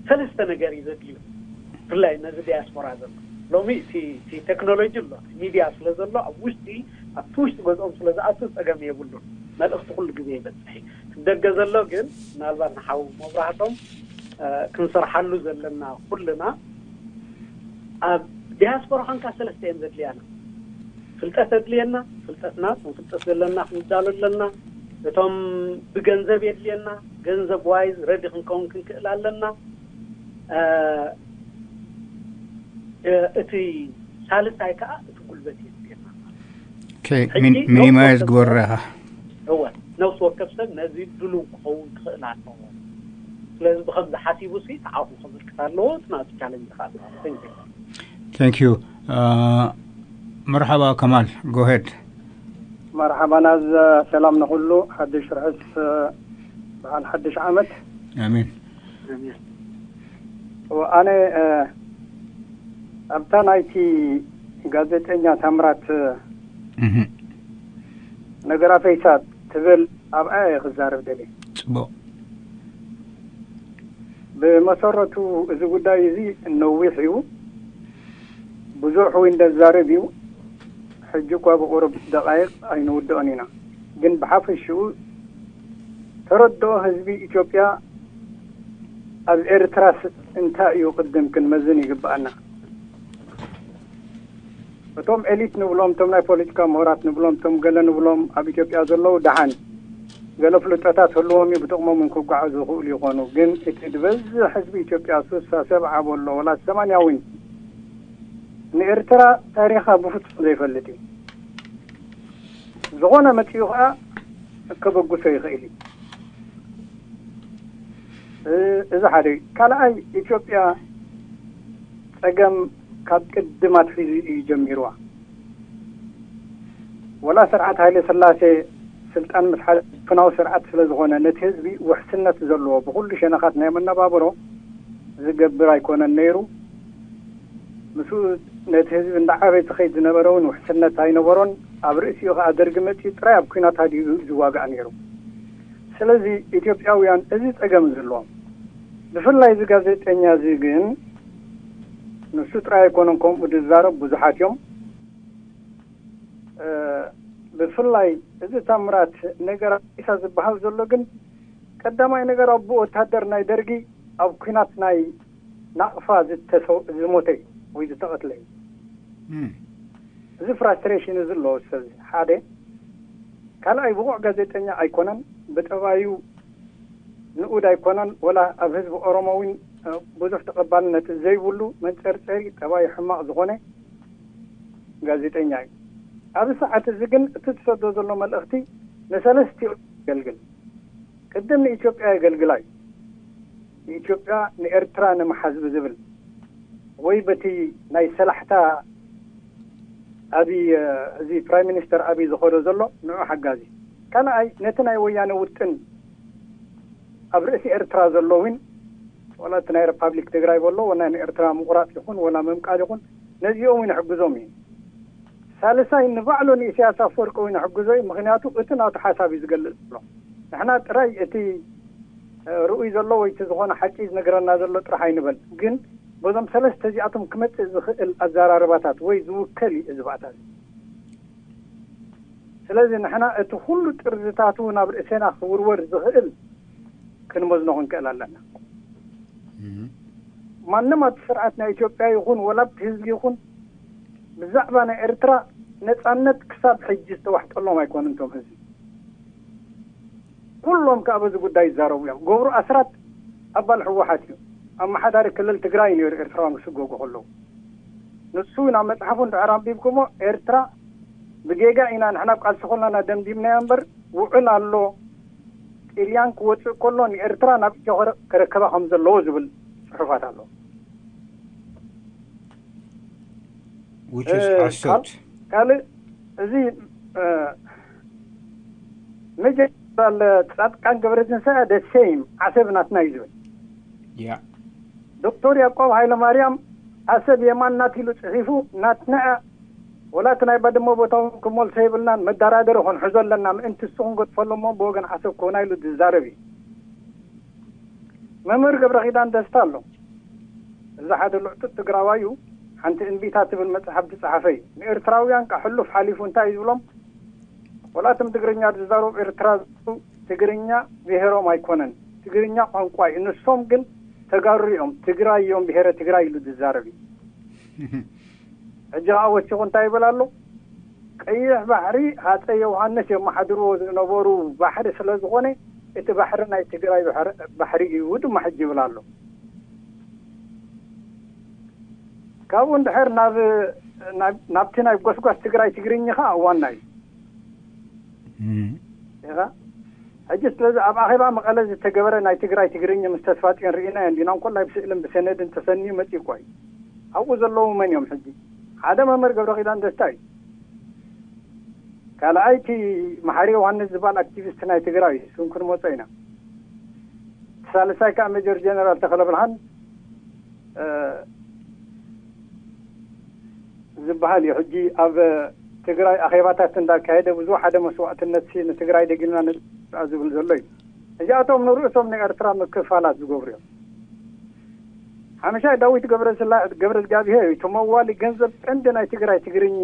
ሰለስተ ነገር እዩ ዘድልዩ። ብፍላይ ነዚ ዲያስፖራ ዘሎ ሎሚ እቲ ቴክኖሎጂ ኣሎ፣ ሚድያ ስለ ዘሎ ኣብ ውሽጢ ኣብቲ ውሽጢ ገዝኦም ስለ ዝኣቱ ጸገም የብሉን። መልእኽቲ ኩሉ ግዜ ይበጽሕ እዩ። ደገ ዘሎ ግን ምናልባት ንሓው መብራህቶም ክንሰርሓሉ ዘለና ኩልና ኣብ ዲያስፖራ ኮንካ ሰለስተ እየን ዘድልያና። ፍልጠት ኣድልየና፣ ፍልጠትና ክንፍልጠት ዘለና ክንዳሎ ኣለና። እቶም ብገንዘብ የድልየና፣ ገንዘብ ዋይዝ ረዲ ክንከውን ክንክእል ኣለና። እቲ ሳልሳይ ከዓ እቲ ጉልበት የድልየና። ሚኒማይዝ ግበረኻ እወ ነፍሲ ወከፍ ሰብ ነዚ ድሉው ክኸውን ክኽእል ኣለዎ። ስለዚ ብከምዚ ሓሲቡ ሲ ተዓኹ ከበርክት ኣለዎ። እቲ ናቱ ቻለንጅ ከዓ ኣለዎ። ቴንክ ዩ። መርሓባ ከማል፣ ጎሄድ። መርሓባ ናዝ፣ ሰላም ንኹሉ። ሓድሽ ርዕስ በዓል ሓድሽ ዓመት። ኣሜን። ኣነ ኣብታ ናይቲ ጋዜጠኛ ታምራት ነገር ኣፈይሳ ትብል ኣብኣ እየ ክዛረብ ደልየ። ጽቡቕ። ብመሰረቱ እዚ ጉዳይ እዚ ነዊሕ እዩ። ብዙሕ እውን ዘዛርብ እዩ። ሕጂ እኳ ብቁሩብ ደቃይቕ ኣይንውድኦን ኢና። ግን ብሓፈሽኡ ተረድኦ ህዝቢ ኢትዮጵያ ኣብ ኤርትራስ እንታይ እዩ ቅድም ክንመዝን ይግብኣና። እቶም ኤሊት ንብሎም፣ እቶም ናይ ፖለቲካ ምሁራት ንብሎም፣ እቶም ገለ ንብሎም ኣብ ኢትዮጵያ ዘለዉ ደሓን ገለ ፍልጠታት ህልዎም እዩ፣ ብጥቕሞም እውን ክጓዓዙ ይኽእሉ ይኾኑ። ግን እቲ ዝበዝሕ ህዝቢ ኢትዮጵያ ስሳ ሰብዓ በሎ ወላ ሰማንያ እውን ንኤርትራ ታሪኻ ብፍጹም ዘይፈልጥ እዩ። ዝኾነ መጺኡ ኸኣ ከበግሶ ይኽእል እዩ። እ- እዚ ሓደ እዩ። ካልኣይ፣ ኢትዮጵያ ጸገም ካብ ቅድም ኣትሒዙ እዩ ጀሚርዋ። ወላ ስርዓት ሃይለ ስላሴ ስልጣን ምስ ሓ- ፍናው ስርዓት ስለ ዝኾነ፣ ነቲ ህዝቢ ውሕስነት ዘለዎ ብኹሉ ሸነኻት ናይ መነባብሮ ዝገብር ኣይኮነን ነይሩ። ምስኡ ነቲ ህዝቢ እንዳዓበየ ዝኸይድ ዝነበረ እውን ውሕስነት ኣይነበሮን። ኣብ ርእሲኡ ኸኣ ደርጊ መጺኡ ጥራይ ኣብ ኲናት ሃዲኡ ዝዋጋእ ነይሩ። ስለዚ ኢትዮጵያውያን እዚ ጸገም ዘለዎም፣ ብፍላይ እዚ ጋዜጠኛ እዚ ግን ንሱ ጥራይ ኣይኮነን ከምኡ ዝዛረብ፣ ብዙሓት እዮም። እ፣ ብፍላይ እዚ ታምራት ነገር ኣዲሳ ዝበሃል ዘሎ ግን ቀዳማይ ነገር ኣቦ ወታደር ናይ ደርጊ ኣብ ኲናት ናይ ናቕፋ ዝተሰው- ዝሞተ እዩ ወይ ዝተቐትለ እዩ። እም። እዚ ፍራስትሬሽን እዚ ኣለዎ ሰብ እዚ ሓደ። ካልኣይ ብቑዕ ጋዜጠኛ ኣይኮነን፣ ብጠባዩ ንኡድ ኣይኮነን፣ ወላ ኣብ ህዝቢ ኦሮሞ እውን እ፣ ብዙሕ ተቐባልነት ዘይብሉ መንጸርጸሪ ጠባዩ ሕማቕ ዝኾነ ጋዜጠኛ እዩ። ኣብዚ ሰዓት እዚ ግን እቲ ትሰዶ ዘሎ መልእኽቲ ንሰለስቲኡ የገልግል። ቅድም ንኢትዮጵያ የገልግላ እዩ። ንኢትዮጵያ ንኤርትራ ንምሓዝ ብዝብል ወይ በቲ ናይ ሰላሕታ ኣብይ፣ እዚ ፕራይም ሚኒስተር ኣብይ ዝኸዶ ዘሎ ንዑ ሓጋዚ። ካልኣይ ነቲ ናይ ወያነ ውጥን ኣብ ርእሲ ኤርትራ ዘሎ እውን፣ ወላ እቲ ናይ ሪፓብሊክ ትግራይ በሎ፣ ወላ ንኤርትራ ምቑራጽ ይኹን ወላ ምምቃል ይኹን፣ ነዚኦም እውን ይሕግዞም እዩ። ሳልሳይ ንባዕሉ ንኢሳያስ ኣፈወርቂ እውን ይሕግዞ እዩ። ምኽንያቱ እቲ ናቱ ሓሳብ እዩ ዝገልጽ ዘሎ። ንሕና ጥራይ እቲ እ፣ ርኡይ ዘሎ ወይ እቲ ዝኾነ ሓቂ ዝነግረና ዘሎ ጥራሕ ኣይንበል። ግን በዞም ሰለስተ እዚኣቶም ክመጽእ ዝኽእል ኣዘራርባታት ወይ ዝውከል እዩ እዚ ባእታ እዚ። ስለዚ ንሕና እቲ ኩሉ ጥርዝታቱ ናብ ርእሴና ክውርወር ዝኽእል ክንመዝኖ ክንክእል ኣለና። እም። ማንም ኣብቲ ስርዓት ናይ ኢትዮጵያ ይኹን ወላ ኣብቲ ህዝቢ ይኹን ብዛዕባ ናይ ኤርትራ ነጻነት ክሳብ ሕጂ ዝተዋሕጠሎም ኣይኮኑን እቶም ህዝቢ። ኩሎም ከኣ በዚ ጉዳይ ይዛረቡ እዮም። ገብሩ ኣስራት ኣባል ህወሓት እዩ። ኣመሓዳሪ ክልል ትግራይ ነይሩ ኤርትራውያን ክስጎጉ ከለዉ። ንሱ ናብ መጽሓፉ እንድሕር ኣንቢብኩሞ፣ ኤርትራ ብጌጋ ኢና ንሕና ኣብ ቃልሲ ከለና ደምዲምናዮ እምበር፣ ውዕል ኣሎ፣ ጥልያን ክወጽእ ከሎ ንኤርትራ ናብ ኢትዮ ከረ- ከረከባ ከም ዘለዎ ዝብል ጽሑፋት ኣሎ። Which is እ፣ ሓሶት። ካልእ እዚ እ፣ ሜጀር ጀነራል ጻድቃን ገብረትንሳኤ the same ዓሰብ ናትና እዩ ዝብል። ያ ዶክተር ያዕቆብ ሃይለማርያም ዓሰብ የማን ናት ኢሉ ጽሒፉ፣ ናትና እያ፣ ወላ እቲ ናይ ባድመ ቦታ እውን ክመልሶ የብልናን፣ መደራደሪ ክንሕዞ ኣለና፣ ምእንቲ እሱ ክንገድፈሉ እሞ ብወገን ዓሰብ ክኾና ኢሉ ዝዛረብ እዩ። መምህር ገብረ ኪዳን ደስታ ኣሎ። እዚ ሓደ ልዕጡጥ ትግራዋይ እዩ። ሓንቲ እምቢታ ትብል መጽሓፍ ዝጸሓፈ እዩ። ንኤርትራውያን ከሕሉፍ ሓሊፉ እንታይ እዩ ዝብሎም? ወላ እቶም ትግርኛ ዝዛረቡ ኤርትራ ዘለዉ ትግርኛ ብሄሮም ኣይኮነን፣ ትግርኛ ቋንቋ እዩ። ንሶም ግን ተጋሩ እዮም፣ ትግራይ እዮም፣ ብሄረ ትግራይ ኢሉ ዝዛረብ እዩ። ሕጂ ኸዓ ወሲኹ እንታይ ይብል ኣሎ? ቀይሕ ባሕሪ ሃፀይ ዮሃንስ የመሓድርዎ ዝነበሩ ባሕሪ ስለ ዝኾነ፣ እቲ ባሕሪ ናይ ትግራይ ባሕሪ- ባሕሪ እዩ ድማ ሕጂ ይብል ኣሎ። ካብኡ እንድሕር ናብ ናብ- ናብቲ ናይ ጎስጓስ ትግራይ ትግርኛ ኸዓ ዋና እዩ። እም። ኢኻ። ሕጂ ስለዚ ኣብ ኣኼባ መቐለ ዝተገበረ ናይ ትግራይ ትግርኛ ምስ ተስፋጽዮን ርኢናዮ እንዲና፣ እንኮላይ ብስእልን ብሰነድን ተሰንዩ መጺኡ እኮ እዩ። ኣብኡ ዘለዉ መን እዮም ሕጂ? ሓደ መምህር ገብረ ኪዳን ደስታ እዩ። ካልኣይ እቲ መሓሪ ዮሃንስ ዝበሃል ኣክቲቪስት ናይ ትግራይ እዩ። እሱን ክንመጾ ኢና። እቲ ሳልሳይ ከዓ ሜጀር ጀነራል ተኽለ ብርሃን እ፣ ዝበሃል እዩ። ሕጂ ኣብ ትግራይ ኣኼባታት እንዳካየደ ብዙሕ ሓደ መስዋእትነት ሲ ንትግራይ ደጊምና ንጥፋእ ዝብል ዘሎ እዩ። እዚኣቶም ንርእሶም ንኤርትራ ምክፋላት ዝገብሩ እዮም። ሓመሻይ ዳዊት ገብረስላ- ገብረ እግዚኣብሄር እዩ። እቲ መዋሊ ገንዘብ ቀንዲ ናይ ትግራይ ትግርኝ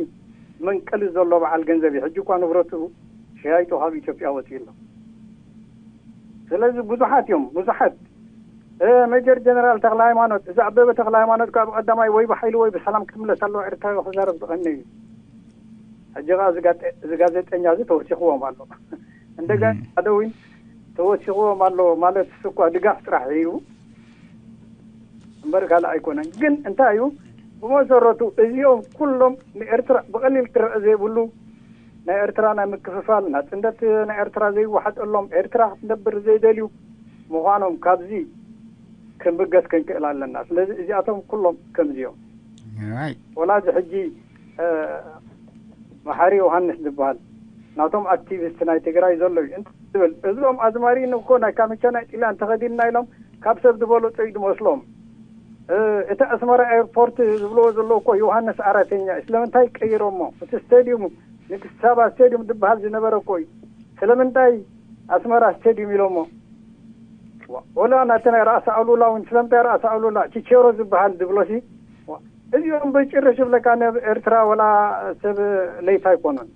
መንቀሊ ዘሎ በዓል ገንዘብ እዩ። ሕጂ እኳ ንብረቱ ሸያይጡ ካብ ኢትዮጵያ ወፂኡ ኣሎ። ስለዚ ብዙሓት እዮም፣ ብዙሓት ሜጀር ጀነራል ተክለ ሃይማኖት፣ እዚ ኣበበ ተክለ ሃይማኖት ካብ ቀዳማይ ወይ ብሓይሊ ወይ ብሰላም ክምለስ ኣለዎ ኤርትራዊ ክዛረብ ዝቐኒ እዩ። ሕጂ ኸዓ እዚ ጋጠ- እዚ ጋዜጠኛ እዚ ተወሲኽዎም ኣሎ። እንደገና ሓደ እውን ተወሲኽዎም ኣሎ ማለት እሱ እኳ ድጋፍ ጥራሕ እዩ እምበር ካልእ ኣይኮነን። ግን እንታይ እዩ ብመሰረቱ እዚኦም ኩሎም ንኤርትራ ብቐሊል ክረአ ዘይብሉ ናይ ኤርትራ ናይ ምክፍፋል ናጽነት ናይ ኤርትራ ዘይወሓጠሎም ኤርትራ ክትነብር ዘይደልዩ ምዃኖም ካብዚ ክንብገስ ክንክእል ኣለና። ስለዚ እዚኣቶም ኩሎም ከምዚኦም ወላ እዚ ሕጂ መሓሪ ዮሃንስ ዝበሃል ናቶም ኣክቲቪስት ናይ ትግራይ ዘሎ እዩ። እንታይ ዝብል እዞም ኣዝማሪን እኮ ናይ ካምቻ ናይ ጥልያን ተኸዲንና ኢሎም ካብ ሰብ ዝበለጹ እዩ ዝመስሎም። እቲ ኣስመራ ኤርፖርት ዝብልዎ ዘለዉ እኮ ዮሃንስ ኣራተኛ እዩ። ስለምንታይ ቀይሮሞ? እቲ ስቴድዩም ንግስቲ ሳባ ስቴድዩም ዝበሃል ዝነበረ እኮ እዩ። ስለምንታይ ኣስመራ ስቴድዩም ኢሎሞ? ወላ ናቲ ናይ ራእሲ ኣሉላ እውን ስለምንታይ ራእሲ ኣሉላ ቺቸሮ ዝበሃል ዝብሎሲ እዚኦም በጭርሽ ይብለካ ነብ ኤርትራ ወላ ሰብ ለይት ኣይኮኑን።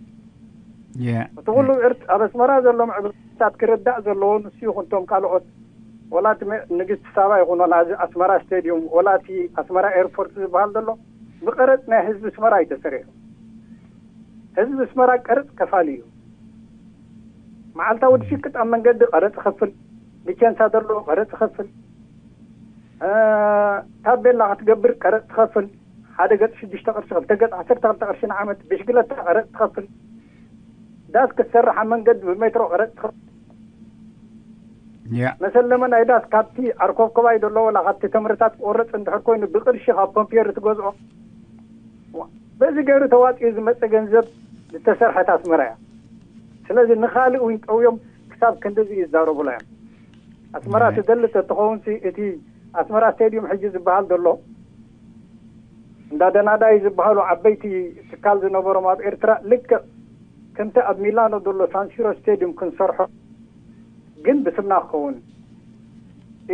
እቲ ኩሉ ኣብ ኣስመራ ዘሎ ምዕብልታት ክርዳእ ዘለዎ ንሱ ይኹን ቶም ካልኦት ወላ እቲ ንግስቲ ሳባ ይኹን ወላ እዚ ኣስመራ ስቴድዩም ወላ እቲ ኣስመራ ኤርፖርት ዝበሃል ዘሎ ብቀረፅ ናይ ህዝቢ ኣስመራ እዩ ተሰሪሑ። ህዝቢ ኣስመራ ቀረፅ ከፋሊ እዩ። መዓልታዊ ድሽቅጥ ኣብ መንገዲ ቀረፅ ይኸፍል፣ ብቸንሳ ዘሎ ቀረፅ ይኸፍል፣ ታቤላ ክትገብር ቀረፅ ትኸፍል፣ ሓደ ገፅ ሽዱሽተ ቅርሺ ክልተ ገፅ ዓሰርተ ክልተ ቅርሺ ንዓመት ብሽግለታ ቀረፅ ትኸፍል፣ ዳስ ክትሰርሕ ኣብ መንገዲ ብሜትሮ ቀረፅ ትኸፍል። መሰለመ ናይ ዳስ ካብቲ ኣርኮብኮባይ ዘሎ ወላ ካብቲ ተምርታት ቆረፅ እንድሕር ኮይኑ ብቅርሺ ካብ ኮምፒየር ትገዝኦ። በዚ ገይሩ ተዋፂኡ ዝመፀ ገንዘብ ዝተሰርሐት ኣስመራ እያ። ስለዚ ንኻልእ እውን ጠውዮም ክሳብ ክንድዚ ይዛረቡላ እዮም። ኣስመራ ትደሊ ተትኸውን እቲ ኣስመራ ስቴድዩም ሕጂ ዝበሃል ዘሎ እንዳ ደናዳይ ዝበሃሉ ዓበይቲ ትካል ዝነበሮም ኣብ ኤርትራ ልክዕ ከምቲ ኣብ ሚላኖ ዘሎ ሳንሲሮ ስቴድዩም ክንሰርሖ ግን ብስምና ክኸውን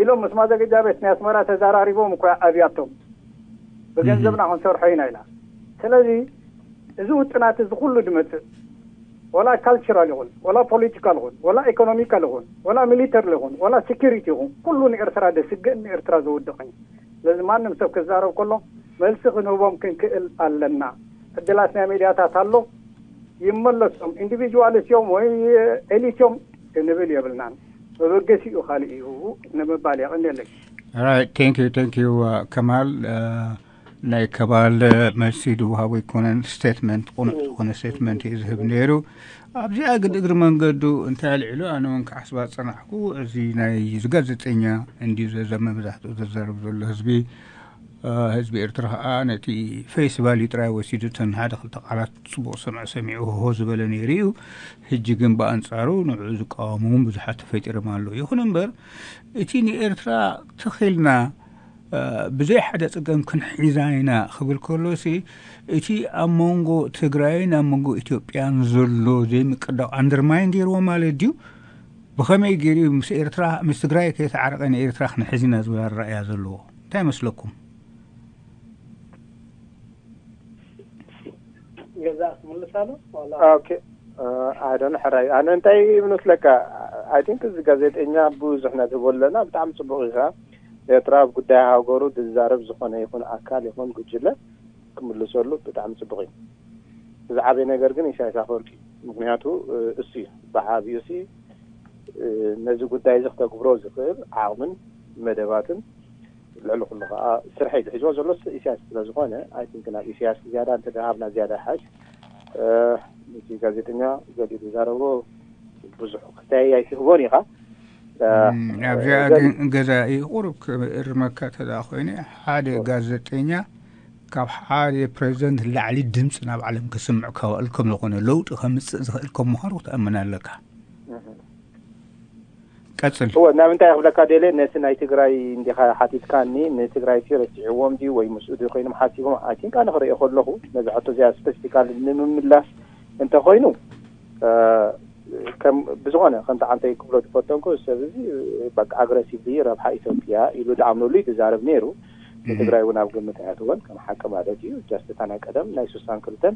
ኢሎም ምስ ማዘገጃ ቤት ናይ ኣስመራ ተዘራሪቦም እኮ ኣብያቶም ብገንዘብና ክንሰርሖ ኢና ኢላ። ስለዚ እዚ ውጥናት እዚ ኩሉ ድመፅእ ወላ ካልቸራል ይኹን ወላ ፖለቲካል ይኹን ወላ ኢኮኖሚካል ይኹን ወላ ሚሊተሪ ይኹን ወላ ሴኪሪቲ ይኹን ኩሉ ንኤርትራ ደስግእን ንኤርትራ ዘውድቕን እዩ። ስለዚ ማንም ሰብ ክዛረብ ከሎ መልሲ ክንህቦም ክንክእል ኣለና። ዕድላት ናይ ሚድያታት ኣሎ። ይመለሶም ኢንዲቪጁዋልስ እዮም ወይ ኤሊት እዮም ክንብል የብልናን። መበገሲኡ ካልእ እዩ ንምባል የቐንየለይ። Right, thank you, thank you, uh, ከማል። Uh, ናይ ከማል መልሲ ድውሃቡ ኣይኮነን፣ ስቴትመንት፣ ቁኑዕ ዝኾነ ስቴትመንት እዩ ዝህብ ነይሩ። ኣብዚኣ ግን እግሪ መንገዱ እንታይ ኣልዒሉ፣ ኣነ እውን ክሓስባ ዝጸናሕኩ፣ እዚ ናይ እዚ ጋዜጠኛ እንድዩ ዘዘመ መብዛሕትኡ ዘዛርብ ዘሎ ህዝቢ፣ ህዝቢ ኤርትራ ከዓ ነቲ ፌስ ቫልዩ ጥራይ ወሲዱ፣ እተን ሓደ ክልተ ቃላት ጽቡቕ ሰምዐ ሰሚዑ ሆሆ ዝበለ ነይሩ እዩ። ሕጂ ግን ብኣንጻሩ ንዕኡ ዝቃወሙ እውን ብዙሓት ተፈጢሮም ኣለዉ። ይኹን እምበር እቲ ንኤርትራ ተኺልና ብዘይ ሓደ ጸገም ክንሒዛ ኢና ክብል ከሎሲ፣ እቲ ኣብ መንጎ ትግራይን ኣብ መንጎ ኢትዮጵያን ዘሎ ዘይምቅዳው ኣንደርማይን ገይርዎ ማለት ድዩ? ብኸመይ ገይሩ ምስ ኤርትራ፣ ምስ ትግራይ ከይተዓረቐ ንኤርትራ ክንሕዝ ኢና ዝብል ኣረኣእያ ዘለዎ? እንታይ ይመስለኩም? ገዛ ክምልስ ኣሎ ዋላ ኦኬ። ኣይ ዶን ሕራይ ኣነ እንታይ ይመስለካ? ኣይ ቲንክ እዚ ጋዜጠኛ ብዙሕ ነትህቦ ኣለና። ብጣዕሚ ፅቡቅ ኢኻ። ኤርትራ ኣብ ጉዳይ ሃገሩ ዝዛረብ ዝኾነ ይኹን ኣካል ይኹን ጉጅለ ክምልሰሉ ብጣዕሚ ፅቡቅ እዩ። እዚ ዓበይ ነገር ግን ኢሳያስ ኣፈወርቂ እዩ። ምክንያቱ እሱ እዩ ብዓብዩ እሱ ነዚ ጉዳይ እዚ ክተግብሮ ዝኽእል ዓቕምን መደባትን ልዕሊ ኩሉ ከዓ ስርሐይ ዝሕዝዎ ዘሎ ኢሳያስ ስለ ዝኾነ ኣይ ቲንክ ናብ ኢሳያስ ዝያዳ እንተደሃብና ዝያዳ ሓሽ። እቲ ጋዜጠኛ ገሊኡ ዝዛረቦ ብዙሕ ክስተያይ ኣይትህቦን ኢኻ። ኣብዚኣ ግን ገዛኢ ቁሩብ ክእርመካ ተዳ ኮይነ ሓደ ጋዜጠኛ ካብ ሓደ ፕሬዚደንት ላዕሊ ድምፂ ናብ ዓለም ክስምዕ ከውዕል ከም ዝኾነ ለውጢ ከምፅእ ዝኽእል ከም ምዃኑ ክትኣምን ኣለካ። ቀፅል። እወ ናብ እንታይ ክብለካ ደልየ ነቲ ናይ ትግራይ እንዲኻ ሓቲትካኒ ንትግራይ ሲ ረሲዕዎም ድዩ ወይ ምስኡ ድዩ ኮይኖም ሓሲቦም ኣይ ቲንክ ኣነ ክርእዮ ከለኹ ነዚ ሕቶ እዚኣ ስፐሲፊካል ንምምላስ እንተኮይኑ ከም ብዝኾነ ከምቲ ዓንተይ ክብሎ ዝፈተንኩ ሰብ እዚ በቃ ኣግረሲቭሊ ረብሓ ኢትዮጵያ ኢሉ ዝኣምነሉ እዩ ዝዛረብ ነይሩ። ንትግራይ እውን ኣብ ግምት ኣያትወን ከም ሓቂ ማለት እዩ። ጀስት እታ ናይ ቀደም ናይ ሱሳን ክልተን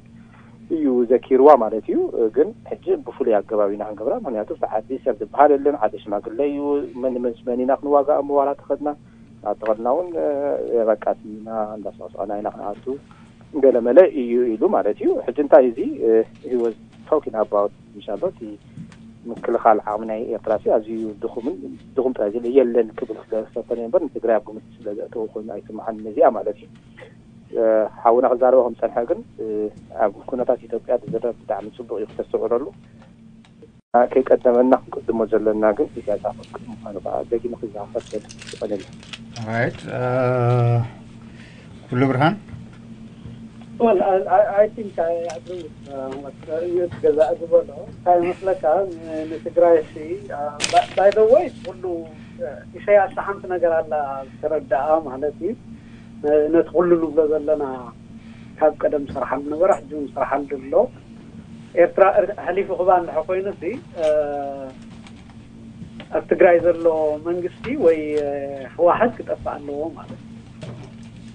እዩ ዘኪርዋ ማለት እዩ። ግን ሕጂ ብፍሉይ ኣገባብ ኢና ክንገብራ፣ ምክንያቱ እቲ ዓዲ ሰብ ዝበሃል የለን፣ ዓዲ ሽማግለ እዩ። መን መን መን ኢና ክንዋጋእ እሞ ዋላ ተኸድና፣ ኣብ ተኸድና እውን በቃ ስሚና እንዳሰቕሰቐና ኢና ክንኣቱ ገለመለ እዩ ኢሉ ማለት እዩ። ሕጂ እንታይ እዚ he was talking about ምሻሎ እቲ ምክልኻል ዓቕሚ ናይ ኤርትራ ሲ ኣዝዩ ድኹምን ድኹም ጥራይ ዝብል የለን ክብል ስለዝፈተነ እምበር ንትግራይ ኣብ ግምት ስለዘእተወ ኮይኑ ኣይስምዓን ነዚኣ ማለት እዩ። ሓውና ክዛረበ ከም ዝጸንሐ ግን ኣብ ኩነታት ኢትዮጵያ ዝዝረብ ብጣዕሚ ጽቡቕ እዩ ክተስተውዕለሉ። ከይቀደመና ክንቅድሞ ዘለና ግን ኢሳያስ ኣፈወርቂ ምዃኑ ከዓ ደጊመ ክዘኻኸር ይደሊ። ይቐንል። ራይት ኩሉ ብርሃን I think I agree with ገዛእ ዝበሎ እንታይ መስለካ ንትግራይ ሲ by the way ኩሉ ኢሳያስ ሓንቲ ነገር ኣላ ዝተረዳኣ ማለት እዩ። ነቲ ኩሉ ንብሎ ዘለና ካብ ቀደም ዝሰርሓሉ ነበረ ሕጂ እውን ዝሰርሓሉ ኣሎ። ኤርትራ ሕሊፉ ክባ እንድሐ ኮይኑ ሲ ኣብ ትግራይ ዘሎ መንግስቲ ወይ ህወሓት ክጠፍእ ኣለዎ ማለት እዩ።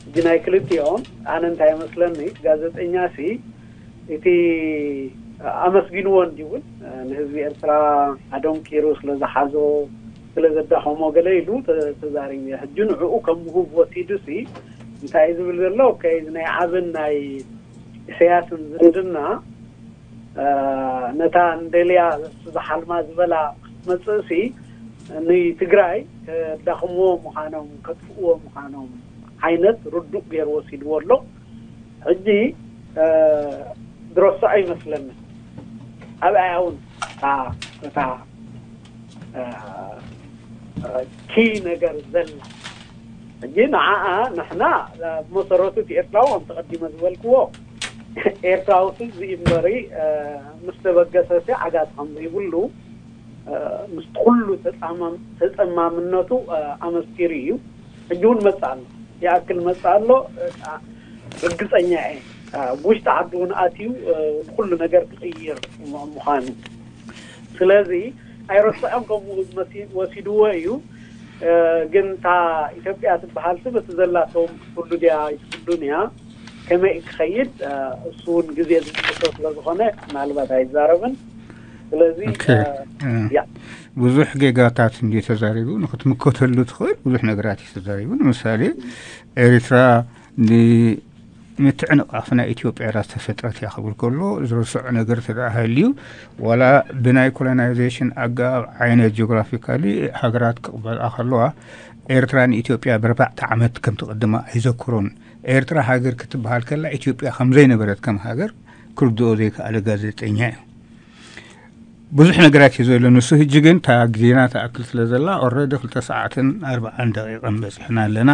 ሕጂ ናይ ክልቲኦም ኣነ እንታይ ይመስለኒ ጋዜጠኛ ሲ እቲ ኣመስጊንዎ እንዲውን ንህዝቢ ኤርትራ ኣደንቂሩ ስለዝሓዞ ስለዘዳኸሞ ገለ ኢሉ ተዛሪቡ እዩ። ሕጂ ንዕኡ ከም ምሁብ ወሲዱ ሲ እንታይ እዩ ዝብል ዘሎ ከይዚ ናይ ዓብን ናይ ኢሳያስን ዝምድና ነታ እንደልያ ዝሓልማ ዝበላ ክትመፅእ ሲ ንትግራይ ከዳኽምዎ ምዃኖም ከጥፍእዎ ምዃኖም ዓይነት ርዱእ ገይሩ ወሲድዎ ኣሎ። ሕጂ ዝረስዖ ይመስለኒ ኣብኣያ እውን እታ ኪ ነገር ዘላ ሕጂ ንዓኣ ንሕና ብመሰረቱ እቲ ኤርትራዊ ከም ተቐዲመ ዝበልክዎ ኤርትራዊ ሲ እምበሪ ምስ ተበገሰ ሲ ዓጋቲ ከም ዘይብሉ ምስ ኩሉ ተፀማምነቱ ኣመስኪሩ እዩ። ሕጂ እውን መፅእ ኣሎ ይኣክል መፅእ ኣሎ። ርግፀኛ እየ ውሽጢ ዓዲ እውን ኣትዩ ኩሉ ነገር ክቕይር ምዃኑ ስለዚ ኣይረስዖም ከምኡ ወሲድዎ እዩ። ግን እታ ኢትዮጵያ ትበሃል ስም እቲ ዘላቶም ትፍሉ ድያ ኣይትፍሉን እያ ከመይ ክኸይድ እሱ እውን ግዜ ዝምልከቶ ስለዝኾነ ምናልባት ኣይዛረብን። ስለዚ ብዙሕ ጌጋታት እንዲ ተዛሪቡ ንክትምከተሉ ትኽእል ብዙሕ ነገራት እዩ ተዛሪቡ። ንምሳሌ ኤሪትራ ምትዕንቓፍ ናይ ኢትዮጵያ እያ ዝተፈጥረት እያ ክብል ከሎ ዝረስዖ ነገር ተደኣ ሃልዩ ዋላ ብናይ ኮሎናይዜሽን ኣገባብ ዓይነት ጂኦግራፊካሊ ሃገራት ክቕበልኣ ከለዋ ኤርትራ ንኢትዮጵያ ብኣርባዕተ ዓመት ከም ትቕድማ ኣይዘክሮን። ኤርትራ ሃገር ክትበሃል ከላ ኢትዮጵያ ከም ዘይነበረት ከም ሃገር ክርድኦ ዘይከኣለ ጋዜጠኛ እዩ። ብዙሕ ነገራት እዩ ዘሎ ንሱ። ህጂ ግን እታ ግዜና ትኣክል ስለ ዘላ ኦረዲ ክልተ ሰዓትን ኣርባዓን ደቂቕን በፂሕና ኣለና።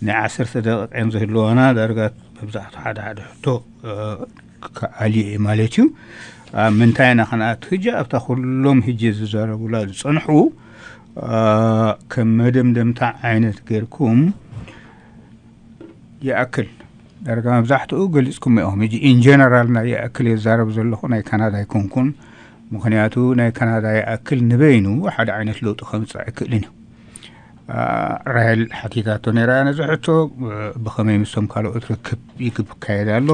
ናይ ዓሰርተ ደቂቕ እዮም ዝህልዋና። ዳርጋ መብዛሕቱ ሓደ ሓደ ሕቶ ክኣልዮ እዩ ማለት እዩ። ኣብ ምንታይ ኢና ክንኣቱ ህጂ ኣብታ ኩሎም ህጂ ዝዛረቡላ ዝፀንሑ ከም መደምደምታ ዓይነት ገይርኩም ይኣክል ዳርጋ መብዛሕትኡ ገሊፅኩም ኢኹም። ሕጂ ኢንጀነራል ናይ ይኣክል የዛረብ ዘለኹ ናይ ካናዳ ኣይኮንኩን። ምክንያቱ ናይ ካናዳ ይኣክል ንበይኑ ሓደ ዓይነት ለውጢ ከምፅእ ኣይክእልን እዩ። ራሄል ሓቲታቶ ነይራ ነዚ ሕቶ ብኸመይ ምስቶም ካልኦት ርክብ ይክካየድ ኣሎ።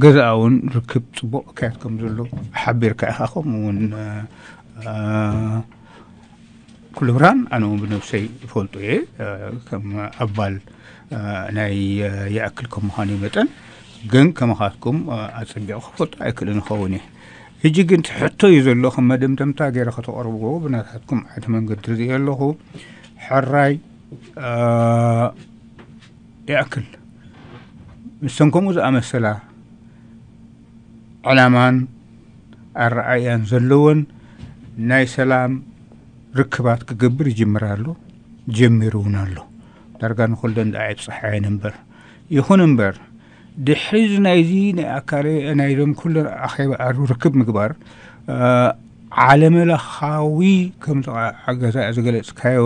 ገዛኣ እውን ርክብ ፅቡቕ ክካየድ ከም ዘሎ ሓቢርካ ኢኻ። ከምኡ እውን ኩሉ ብርሃን ኣነ እውን ብነብሰይ ይፈልጦ እየ ከም ኣባል ናይ ይኣክል ከም ምዃኑ መጠን ግን ከመኻትኩም ኣፀቢቑ ክፈልጦ ኣይክእልን ይኸውን እየ። ሕጂ ግን እቲ ሕቶ እዩ ዘሎ ከም መደምደምታ ገይረ ከተቕርብዎ ብናታትኩም ዓዲ መንገዲ ርእየ ኣለኹ። ሕራይ ይኣክል ምስተን ከምኡ ዝኣመሰላ ዕላማን ኣረኣእያን ዘለወን ናይ ሰላም ርክባት ክገብር ይጅምር ኣሎ፣ ጀሚሩ እውን ኣሎ። ዳርጋ ንኹለን ደኣ ኣይብፅሓየን እምበር። ይኹን እምበር ድሕሪ እዚ ናይዚ ናይ ኣካለ ናይዞም ኩለን ኣኼባ ርክብ ምግባር ዓለመለኻዊ ከምዚ ገዛ ዝገለፅካዮ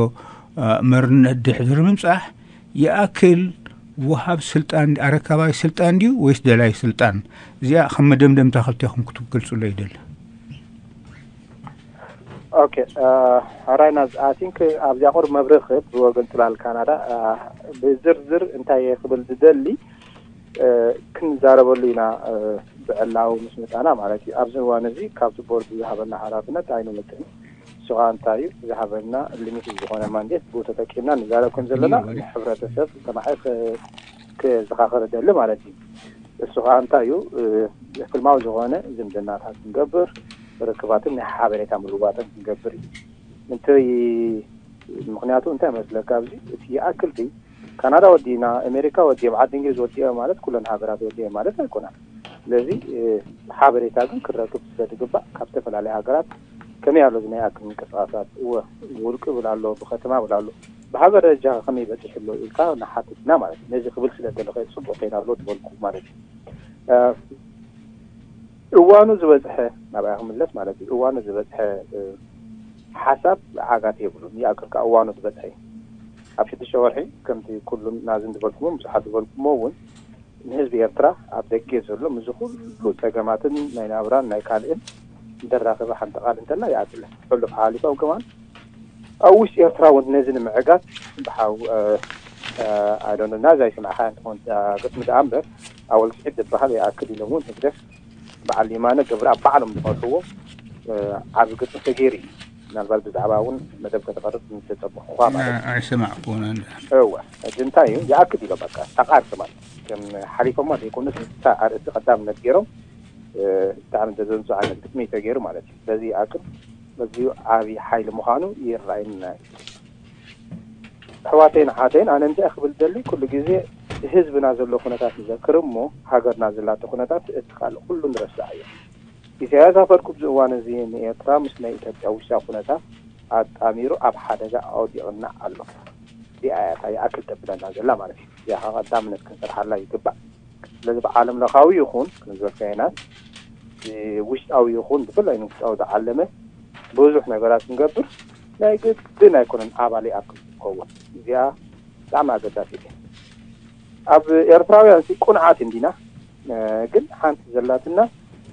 መርነት ድሕሪ ምምፃሕ ይኣክል ወሃብ ስልጣን ኣረካባይ ስልጣን ድዩ ወይስ ደላይ ስልጣን? እዚኣ ከም መደምደምታ ክልቴኹም ክትገልፁሎ ይደሊ። ኦኬ፣ ሕራይና I think ኣብዚኣ ቁሩብ መብርህ ክህብ ብወገን ጽላል ካናዳ ብዝርዝር እንታይ እየ ክብል ዝደሊ ክንዛረበሉ ኢና። ብዕላዊ ምስ መጻና ማለት እዩ። ኣብዚ እዋን እዚ ካብቲ ቦርድ ዝሃበና ሓላፍነት ኣይንወጽእን። ንሱ ከዓ እንታይ እዩ ዝሃበና? ሊሚት ዝኾነ ማንዴት ብኡ ተጠቂምና ንዛረብ ከም ዘለና ንሕብረተሰብ ሰማዒ ክዘኻኸር እደሊ ማለት እዩ። እሱ ከዓ እንታይ እዩ? ፍልማዊ ዝኾነ ዝምድናታት ክንገብር፣ ርክባትን ናይ ሓበሬታ ምልዋጥን ክንገብር እዩ። እንታይ ምኽንያቱ እንታይ መስለካ? ኣብዚ እቲ ይኣክል ድዩ? ካናዳ ወዲእና፣ ኣሜሪካ ወዲኦም፣ ዓዲ እንግሊዝ ወዲኦም ማለት ኩለን ሃገራት ወዲኦም ማለት ኣይኮነን። ስለዚ ሓበሬታ ግን ክረክብ ስለ ዝግባእ ካብ ዝተፈላለዩ ሃገራት ከመይ ኣሎ እዚ ናይ ኣክል ምንቅስቃሳት? እወ፣ ውልቂ ብል ኣሎ፣ ብከተማ ብል ኣሎ፣ ብሃገር ደረጃ ከመይ በፂሑ ኣሎ ኢልካ ንሓትት ኢና ማለት እዩ። ነዚ ክብል ስለ ደለኸ ፅቡቅ ከይና ኣሎ ዝበልኩ ማለት እዩ። እዋኑ ዝበፅሐ፣ ናብኣ ክምለስ ማለት እዩ። እዋኑ ዝበፅሐ ሓሳብ ዓጋት የብሉን። ይኣክል ከዓ እዋኑ ዝበፅሐ እዩ። ኣብ ሽዱሽተ ወርሒ ከምቲ ኩሉም ናዚ ዝበልኩሞ ብዙሓት ዝበልኩሞ እውን ንህዝቢ ኤርትራ ኣብ ደገ ዘሎ ምስዚ ኩሉ ጸገማትን ናይ ናብራን ናይ ካልእን ዘራኽበ ሓንቲ ቃል እንተላ ይኣክል። ሕሉፍ ሓሊፎም ከማን ኣብ ውሽጢ ኤርትራ እውን ነዚ ንምዕጋት ብሓው ኣይዶነ ናዚ ኣይሰማዕካ እንትኾን ግጥሚ ደኣ እምበር ኣወል ስዒድ ዝበሃል ይኣክል ኢሎም እውን ህግደፍ በዓል የማነ ገብረኣብ ባዕሎም ዝመርሕዎ ዓቢ ግጥሚ ተገይሩ እዩ። ምናልባት ብዛዕባ እውን መደብ ከተቐርብ ዝተጸበኹኻ ማለት እዩ። ኣይሰማዕኩን። እወ፣ ሕጂ እንታይ እዩ ይኣክል ኢሎም በቃ ተቓርጽ ማለት ከም ሓሊፎማ ዘይኮኑስ እታ ኣርእስቲ ቀዳምነት ገይሮም ብጣዕሚ ዘዘንጹ ዓይነት ግጥሚ እዩ ተገይሩ ማለት እዩ። ስለዚ ይኣክል በዚሁ ዓቢ ሓይሊ ምዃኑ ይረኣየና እዩ። ኣሕዋተይን ኣሓተይን ኣነ እንታይ ክብል ደሊ ኩሉ ግዜ ህዝብና ዘሎ ኩነታት ንዘክር እሞ ሃገርና ዘላቶ ኩነታት እቲ ካልእ ኩሉ ንረስዓ እዩ። ኢሳያስ ኣፈወርቂ ኣብዚ እዋን እዚ ንኤርትራ ምስ ናይ ኢትዮጵያ ውሽጣዊ ኩነታት ኣጣሚሩ ኣብ ሓደጋ ኣውዲቕና ኣሎ። እዚኣ እያ እታ ይኣክል ተብለና ዘላ ማለት እዩ። እዚኣ ከዓ ቀዳምነት ክንሰርሓላ ይግባእ። ስለዚ ብዓለም ለኻዊ ይኹን ክንዝበልካየናት ውሽጣዊ ይኹን ብፍላይ ንውሽጣዊ ዝዓለመ ብዙሕ ነገራት ክንገብር ናይ ግድን ኣይኮነን ኣባል ይኣክል ዝኸውን። እዚኣ ብጣዕሚ ኣገዳሲት እያ። ኣብ ኤርትራውያን ሲ ቁንዓት እንዲና ግን ሓንቲ ዘላትና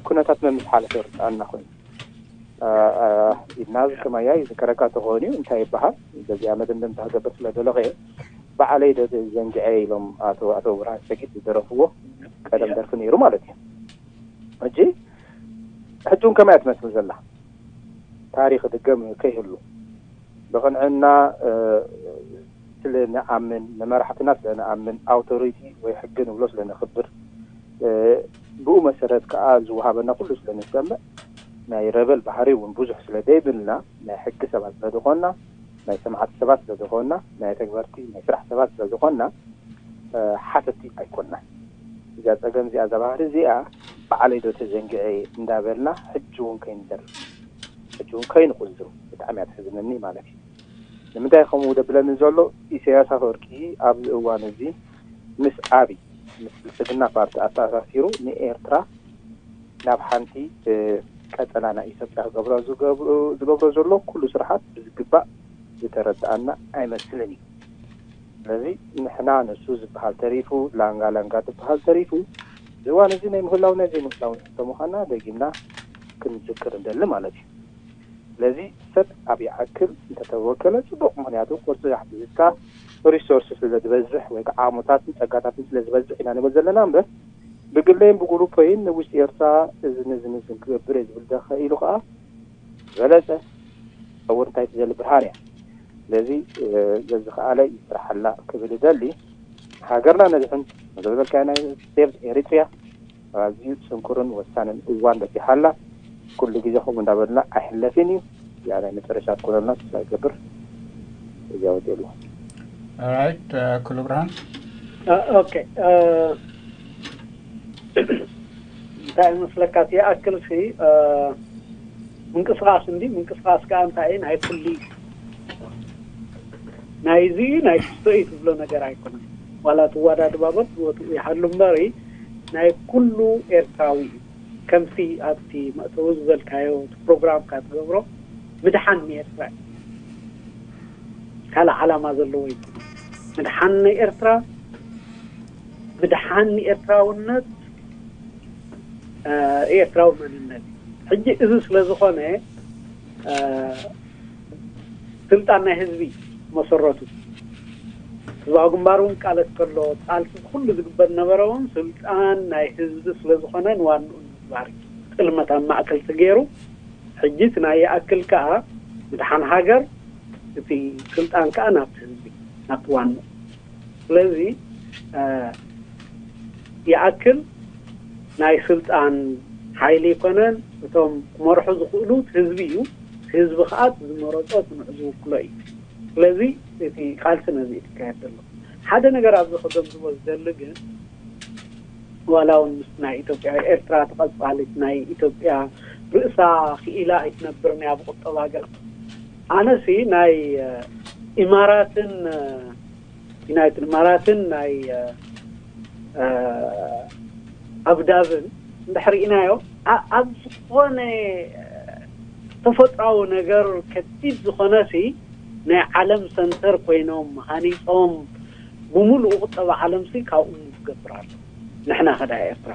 ኩነታት መምስ ሓለፈ ይርድኣና ኮይኑ ኢድና ዝከማያ ይዝከረካ ተኾን እዩ እንታይ ይበሃል በዚኣ መደምደምታ ክገብር ስለ ደለኸ በዓለይ ዶ ዘንግዐ ኢሎም ኣቶ ኣቶ ብርሃን ሰጊድ ዝደረፍዎ ቀደም ደርፊ ነይሩ ማለት እዩ። ሕጂ ሕጂ እውን ከመያ ትመስል ዘላ ታሪኽ ድገም ከይህሉ ብቕንዕና ስለ ንኣምን ንመራሕትና ስለ ንኣምን ኣውቶሪቲ ወይ ሕጊ ንብሎ ስለ ነኽብር ብኡ መሰረት ከዓ ዝወሃበና ኩሉ ስለ ንሰምዕ ናይ ረበል ባህሪ እውን ብዙሕ ስለ ደይብልና ናይ ሕጊ ሰባት ስለ ዝኾንና ናይ ሰማዕቲ ሰባት ስለ ዝኾንና ናይ ተግበርቲ ናይ ስራሕ ሰባት ስለ ዝኾንና ሓተቲ ኣይኮንና። እዚኣ ፀገም እዚኣ እዛ ባህሪ እዚኣ በዓለይ ዶ ተዘንግዐ እንዳበልና ሕጂ እውን ከይንደርፍ ሕጂ እውን ከይንቁዝም ብጣዕሚ እያ ትሕዝነኒ ማለት እዩ። ንምንታይ ከምኡ ደብለኒ ዘሎ ኢሳያስ ኣፈወርቂ ኣብዚ እዋን እዚ ምስ ኣብይ ምስ ብልፅግና ፓርቲ ኣተኣሳሲሩ ንኤርትራ ናብ ሓንቲ ቀጠና ናይ ኢትዮጵያ ክገብሮ ዝገብሮ ዘሎ ኩሉ ስርሓት ብዝግባእ ዝተረድኣና ኣይመስልን እዩ። ስለዚ ንሕና ንሱ ዝበሃል ተሪፉ ላንጋ ላንጋ ዝበሃል ተሪፉ ዝዋን እዚ ናይ ምህላው ናይ ዘይምህላው ተምዃና ደጊምና ክንዝክር እንደሊ ማለት እዩ። ስለዚ ሰብ ኣብ ይዓክል እንተተወከለ ፅቡቅ ምክንያቱ ቁርፂ ኣሕቲዝካ ሪሶርስ ስለ ዝበዝሕ ወይ ከዓ ዓሞታትን ፀጋታትን ስለ ዝበዝሕ ኢና ንብል ዘለና እምበር ብግለይን ብጉሩፐይን ንውሽጢ ኤርትራ እዚ ነዚ ነዝን ክገብር እየ ዝብል ደኸ ኢሉ ከዓ ዝበለፀ ፀውር እንታይ ትዘሊ ብርሃን እያ። ስለዚ ዘዝኸኣለ ይስራሓላ ክብል እደሊ። ሃገርና ነድሕን መዘበልካዮ ናይ ሴቭ ኤሪትሪያ ኣዝዩ ፅንኩርን ወሳንን እዋን በፂሓላ። ኩሉ ግዜ ከምኡ እንዳበልና ኣይሕለፍን እዩ። እዚኣ ናይ መጨረሻ ትኮነልና ተስፋ ይገብር። እዚኣ ወዲሉ። ኦራይት ኩሉ ብርሃን። ኦኬ እንታይ መስለካ ይኣክል ሲ ምንቅስቃስ እንዲ ምንቅስቃስ ከዓ እንታይ ናይ ኩሉ ናይዚ ናይ ክስቶ እዩ ትብሎ ነገር ኣይኮነን። ዋላ ትወዳድባበት ዝወትኡ ይሃሉ እምበሪ ናይ ኩሉ ኤርትራዊ እዩ። ከምቲ ኣብቲ መእተዊ ዝበልካዮ እቲ ፕሮግራምካ ትገብሮ ምድሓን ንኤርትራ እዩ። ካልእ ዓላማ ዘለዎ ይኮነ ምድሓን ንኤርትራ ምድሓን ንኤርትራውነት ኤርትራዊ መንነት ሕጂ እዚ ስለ ዝኾነ ስልጣን ናይ ህዝቢ መሰረቱ ህዝባዊ ግንባር እውን ቃለስ ከሎ ቃልሲ ኩሉ ዝግበር ነበረ እውን ስልጣን ናይ ህዝቢ ስለ ዝኾነ ንዋንኡ ንምግባር እዩ። ጥልመት ኣብ ማእከል ተገይሩ። ሕጂ እቲ ናይ ይኣክል ከኣ ምድሓን ሃገር፣ እቲ ስልጣን ከኣ ናብቲ ህዝቢ፣ ናብቲ ዋንኡ። ስለዚ ይኣክል ናይ ስልጣን ሓይሊ ኣይኮነን። እቶም ክመርሑ ዝኽእሉ ህዝቢ እዩ። ህዝቢ ከዓ ዝመረፆ ንዑ ዝውክሎ እዩ። ስለዚ እቲ ቃልሲ ነዚ ይካየድ ዘሎ። ሓደ ነገር ኣብዚ ክገምዝቦ ዝደሊ ግን ዋላ እውን ምስ ናይ ኢትዮጵያ ኤርትራ ተቐፃሊት ናይ ኢትዮጵያ ርእሳ ክኢላ ኣይትነብርን እያ ብቁጠባ ገለ ኣነሲ ናይ ኢማራትን ዩናይትድ ኢማራትን ናይ ኣቡዳብን እንድሕር ኢናዮ ኣብ ዝኾነ ተፈጥራዊ ነገር ከቢድ ዝኾነ ሲ ናይ ዓለም ሰንተር ኮይኖም ሃኒፆም ብሙሉእ ቁጠባ ዓለም ሲ ካብኡ ዝገብር ኣሎ። ንሕና ከዳ ኤርትራ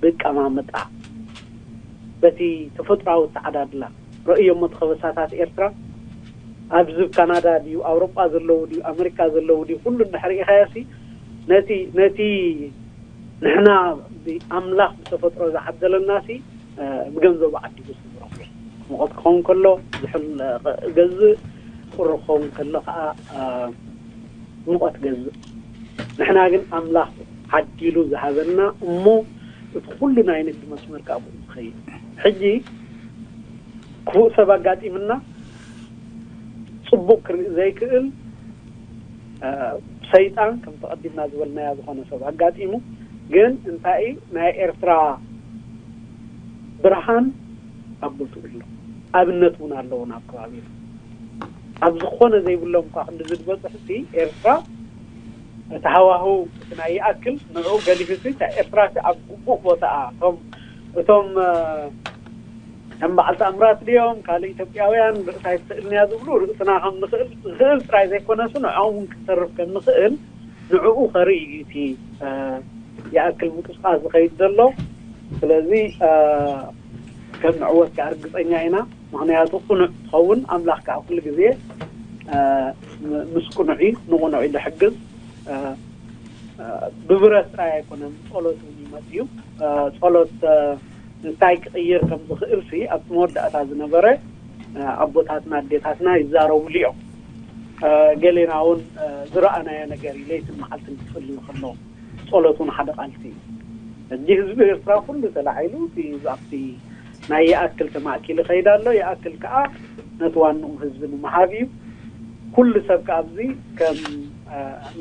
ብቀማምጣ በቲ ተፈጥራዊ ተዓዳድላ ረእዮ እሞ ተኸበሳታት ኤርትራ ኣብዚ ካናዳ ድዩ ኣውሮጳ ዘለዉ ድዩ ኣመሪካ ዘለዉ ድዩ ኩሉ እንድሕር ኢኻዮ ሲ ነቲ ነቲ ንሕና ብኣምላኽ ብተፈጥሮ ዝዓደለና ሲ ብገንዘቡ ዓዲጉ ዝረኽቦ ሙቐት ክኸውን ከሎ ዝሕል ገዝእ ቁሪ ክኸውን ከሎ ከዓ ሙቐት ገዝእ። ንሕና ግን ኣምላኽ ዓዲሉ ዝሃበና እሞ እቲ ኩሉ ናይ ንግዲ መስመር ካብ ዝኸይድ ሕጂ ክፉእ ሰብ ኣጋጢምና ፅቡቅ ክርኢ ዘይክእል ሰይጣን ከም ተቐዲምና ዝበልናያ ዝኾነ ሰብ ኣጋጢሙ ግን እንታይ ናይ ኤርትራ ብርሃን ኣብ ቦትኡ ኣሎ ኣብነት እውን ኣለዎ ናብ ከባቢ ኣብ ዝኾነ ዘይብሎም እኳ ክንዲ ዝድበፅሕ ሲ ኤርትራ እቲ ሃዋህው እቲ ናይ ይኣክል ንዑ ገሊፉ ሲ እታ ኤርትራ ሲ ኣብ ግቡእ ቦታኣ እቶም እቶም ከም በዓል ተኣምራት ድዮም ካልእ ኢትዮጵያውያን ርእሳ ኣይትስእልን እያ ዝብሉ ርእስና ከም ንኽእል ዝኽእል ጥራይ ዘይኮነስ ንዕኦም እውን ክትተርፍ ከም ንኽእል ንዕኡ ከርኢ እዩ እቲ ይኣክል ምንቅስቃስ ዝኸይድ ዘሎ። ስለዚ ከም ንዕወት ከዓ ርግፀኛ ኢና። ምክንያቱ ቅኑዕ ትኸውን ኣምላኽ ከዓ ኩሉ ግዜ ምስ ቅኑዕ ንቅኑዕ ዝሕግዝ ብብረት ጥራይ ኣይኮነን ጸሎት እውን ይመጽ እዩ። ጸሎት እንታይ ክቕይር ከም ዝኽእል ሲ ኣብቲ መወዳእታ ዝነበረ ኣቦታትና ኣዴታትና ይዛረቡሉ እዮም። ገሌና እውን ዝረኣናዮ ነገር እዩ። ለይትን መዓልትን ክጽልዩ ከለዉ ጸሎት እውን ሓደ ቃልሲ እዩ። ሕጂ ህዝቢ ኤርትራ ኩሉ ተላዒሉ ኣብቲ ናይ ይኣክል ተማእኪሉ ይኸይድ ኣሎ። ይኣክል ከዓ ነቲ ዋንኡ ህዝቢ ንምሃብ እዩ። ኩሉ ሰብ ከዓ ኣብዚ ከም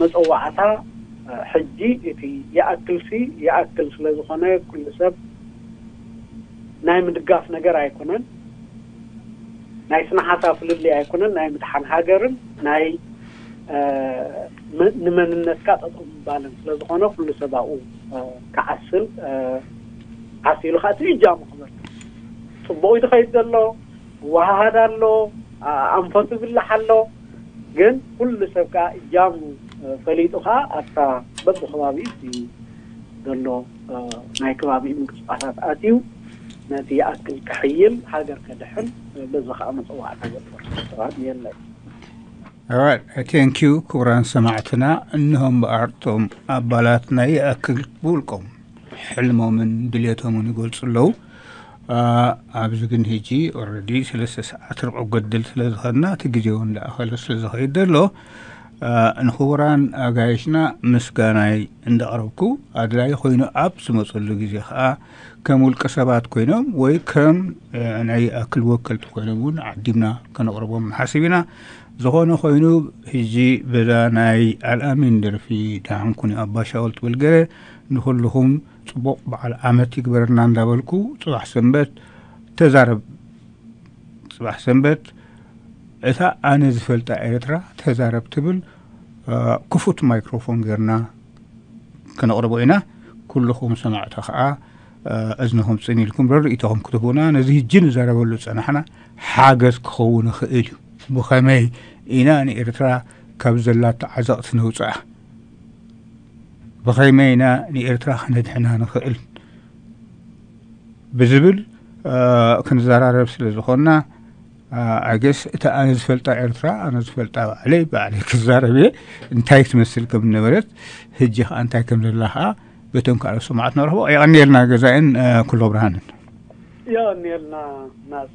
መፀዋዕታ ሕጂ እቲ ይኣክል ሲ ይኣክል ስለ ዝኾነ ኩሉ ሰብ ናይ ምድጋፍ ነገር ኣይኮነን። ናይ ስነ ሓሳብ ፍልልይ ኣይኮነን። ናይ ምድሓን ሃገርን ናይ ንመንነትካ ጠጠው ምባልን ስለ ዝኾነ ኩሉ ሰብ ኣብኡ ክዓስል ዓሲሉ ከዓ እቲ እጃሙ ክበርክት ፅቡቅ እዩ ዝኸይድ ዘሎ። ይወሃሃድ ኣሎ፣ ኣንፈቱ ይብላሕ ኣሎ። ግን ኩሉ ሰብ ከዓ እጃሙ ፈሊጡ ከዓ ኣብታ በብከባቢኡ ዘሎ ናይ ከባቢኡ ምንቅስቃሳት ኣትዩ ነቲ ይኣክል ክሕይል ሃገር ከድሕን በዚ ከዓ መፀዋዕታ ዘጥር ሰባት የለን። Alright, thank you ክቡራን ሰማዕትና። እንሆ እምበኣር እቶም ኣባላት ናይ ይኣክል ብውልቆም ሕልሞምን ድሌቶምን ይገልፁ ኣለዉ። ኣብዚ ግን ሕጂ already ሰለስተ ሰዓት ርብዒ ገድል ስለ ዝኸድና እቲ ግዜ እውን እንዳኣኸለ ስለ ዝኸይድ ዘሎ ንኽቡራን ኣጋይሽና ምስጋናይ እንዳቕረብኩ ኣድላይ ኮይኑ ኣብ ዝመፀሉ ግዜ ከዓ ከም ውልቀ ሰባት ኮይኖም ወይ ከም ናይ ኣክል ወከልቲ ኮይኖም እውን ዓዲምና ከነቕርቦም ንሓስብ ኢና። ዝኾነ ኮይኑ ሕጂ በዛ ናይ ኣልኣሚን ደርፊ ደሓንኩኒ ኣባሻወል ትብል ገለ ንኩልኹም ፅቡቕ በዓል ዓመት ይግበረና እንዳበልኩ ፅባሕ ሰንበት ተዛረብ ፅባሕ ሰንበት እታ ኣነ ዝፈልጣ ኤርትራ ተዛረብ ትብል ክፉት ማይክሮፎን ገርና ከነቕርቦ ኢና። ኩልኹም ሰማዕታ ከዓ እዝንኹም ፅን ኢልኩም ርኢቶኹም ክትህቡና ነዚ ህጂ ንዛረበሉ ዝፀናሕና ሓገዝ ክኸውን ይኽእል እዩ። ብኸመይ ኢና ንኤርትራ ካብ ዘላቶ ዓዘቕቲ ነውፅኣ? ብኸመይ ኢና ንኤርትራ ክነድሕና ንኽእል? ብዝብል ክንዘራረብ ስለ ዝኾንና ኣገስ እታ ኣነ ዝፈልጣ ኤርትራ ኣነ ዝፈልጣ ባዕለይ ባዕለይ ክዛረብ እየ። እንታይ ትመስል ከም ነበረት፣ ህጂ ከዓ እንታይ ከም ዘላ ከዓ በቶም ካልኦት ሰማዕት ነረኽቦ። የቐንየልና ገዛእን ኩሎ ብርሃንን። የቐንየልና ናዝ።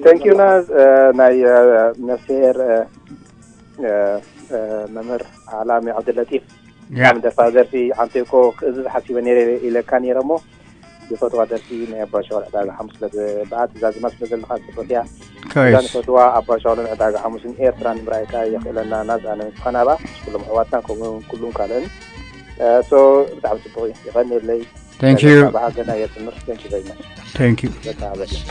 Thank you ናዝ። ናይ ነፍስሄር መምህር ኣላሚ ዓብደለጢፍ ደርፋ ደርፊ ዓንቴኮ ክእዝዝ ሓሲበ ነይረ ኢለካ ነይረ እሞ ዝፈትዋ ደርፊ ናይ ኣባ ሸዋል ዕዳጋ ሓሙስ ስለ ዝበዓት እዛ ዜማ ስለ ዘለካ ጽቡቅ እያ። እዛ ንፈትዋ ኣባ ሸዋልን ዕዳጋ ሓሙስን ኤርትራን ምርኣይካ የኽእለና ናዝ ኣነ ንስኻን ኣባ ምስ ኩሎም ኣሕዋትና ከምኡ እውን ኩሉም ካልእን። ሶ ብጣዕሚ ጽቡቅ እዩ። ይቐንየለይ። Thank you። ኣባ ሃገና የጽምር። Thank you very much። Thank you። በቃ በቃ።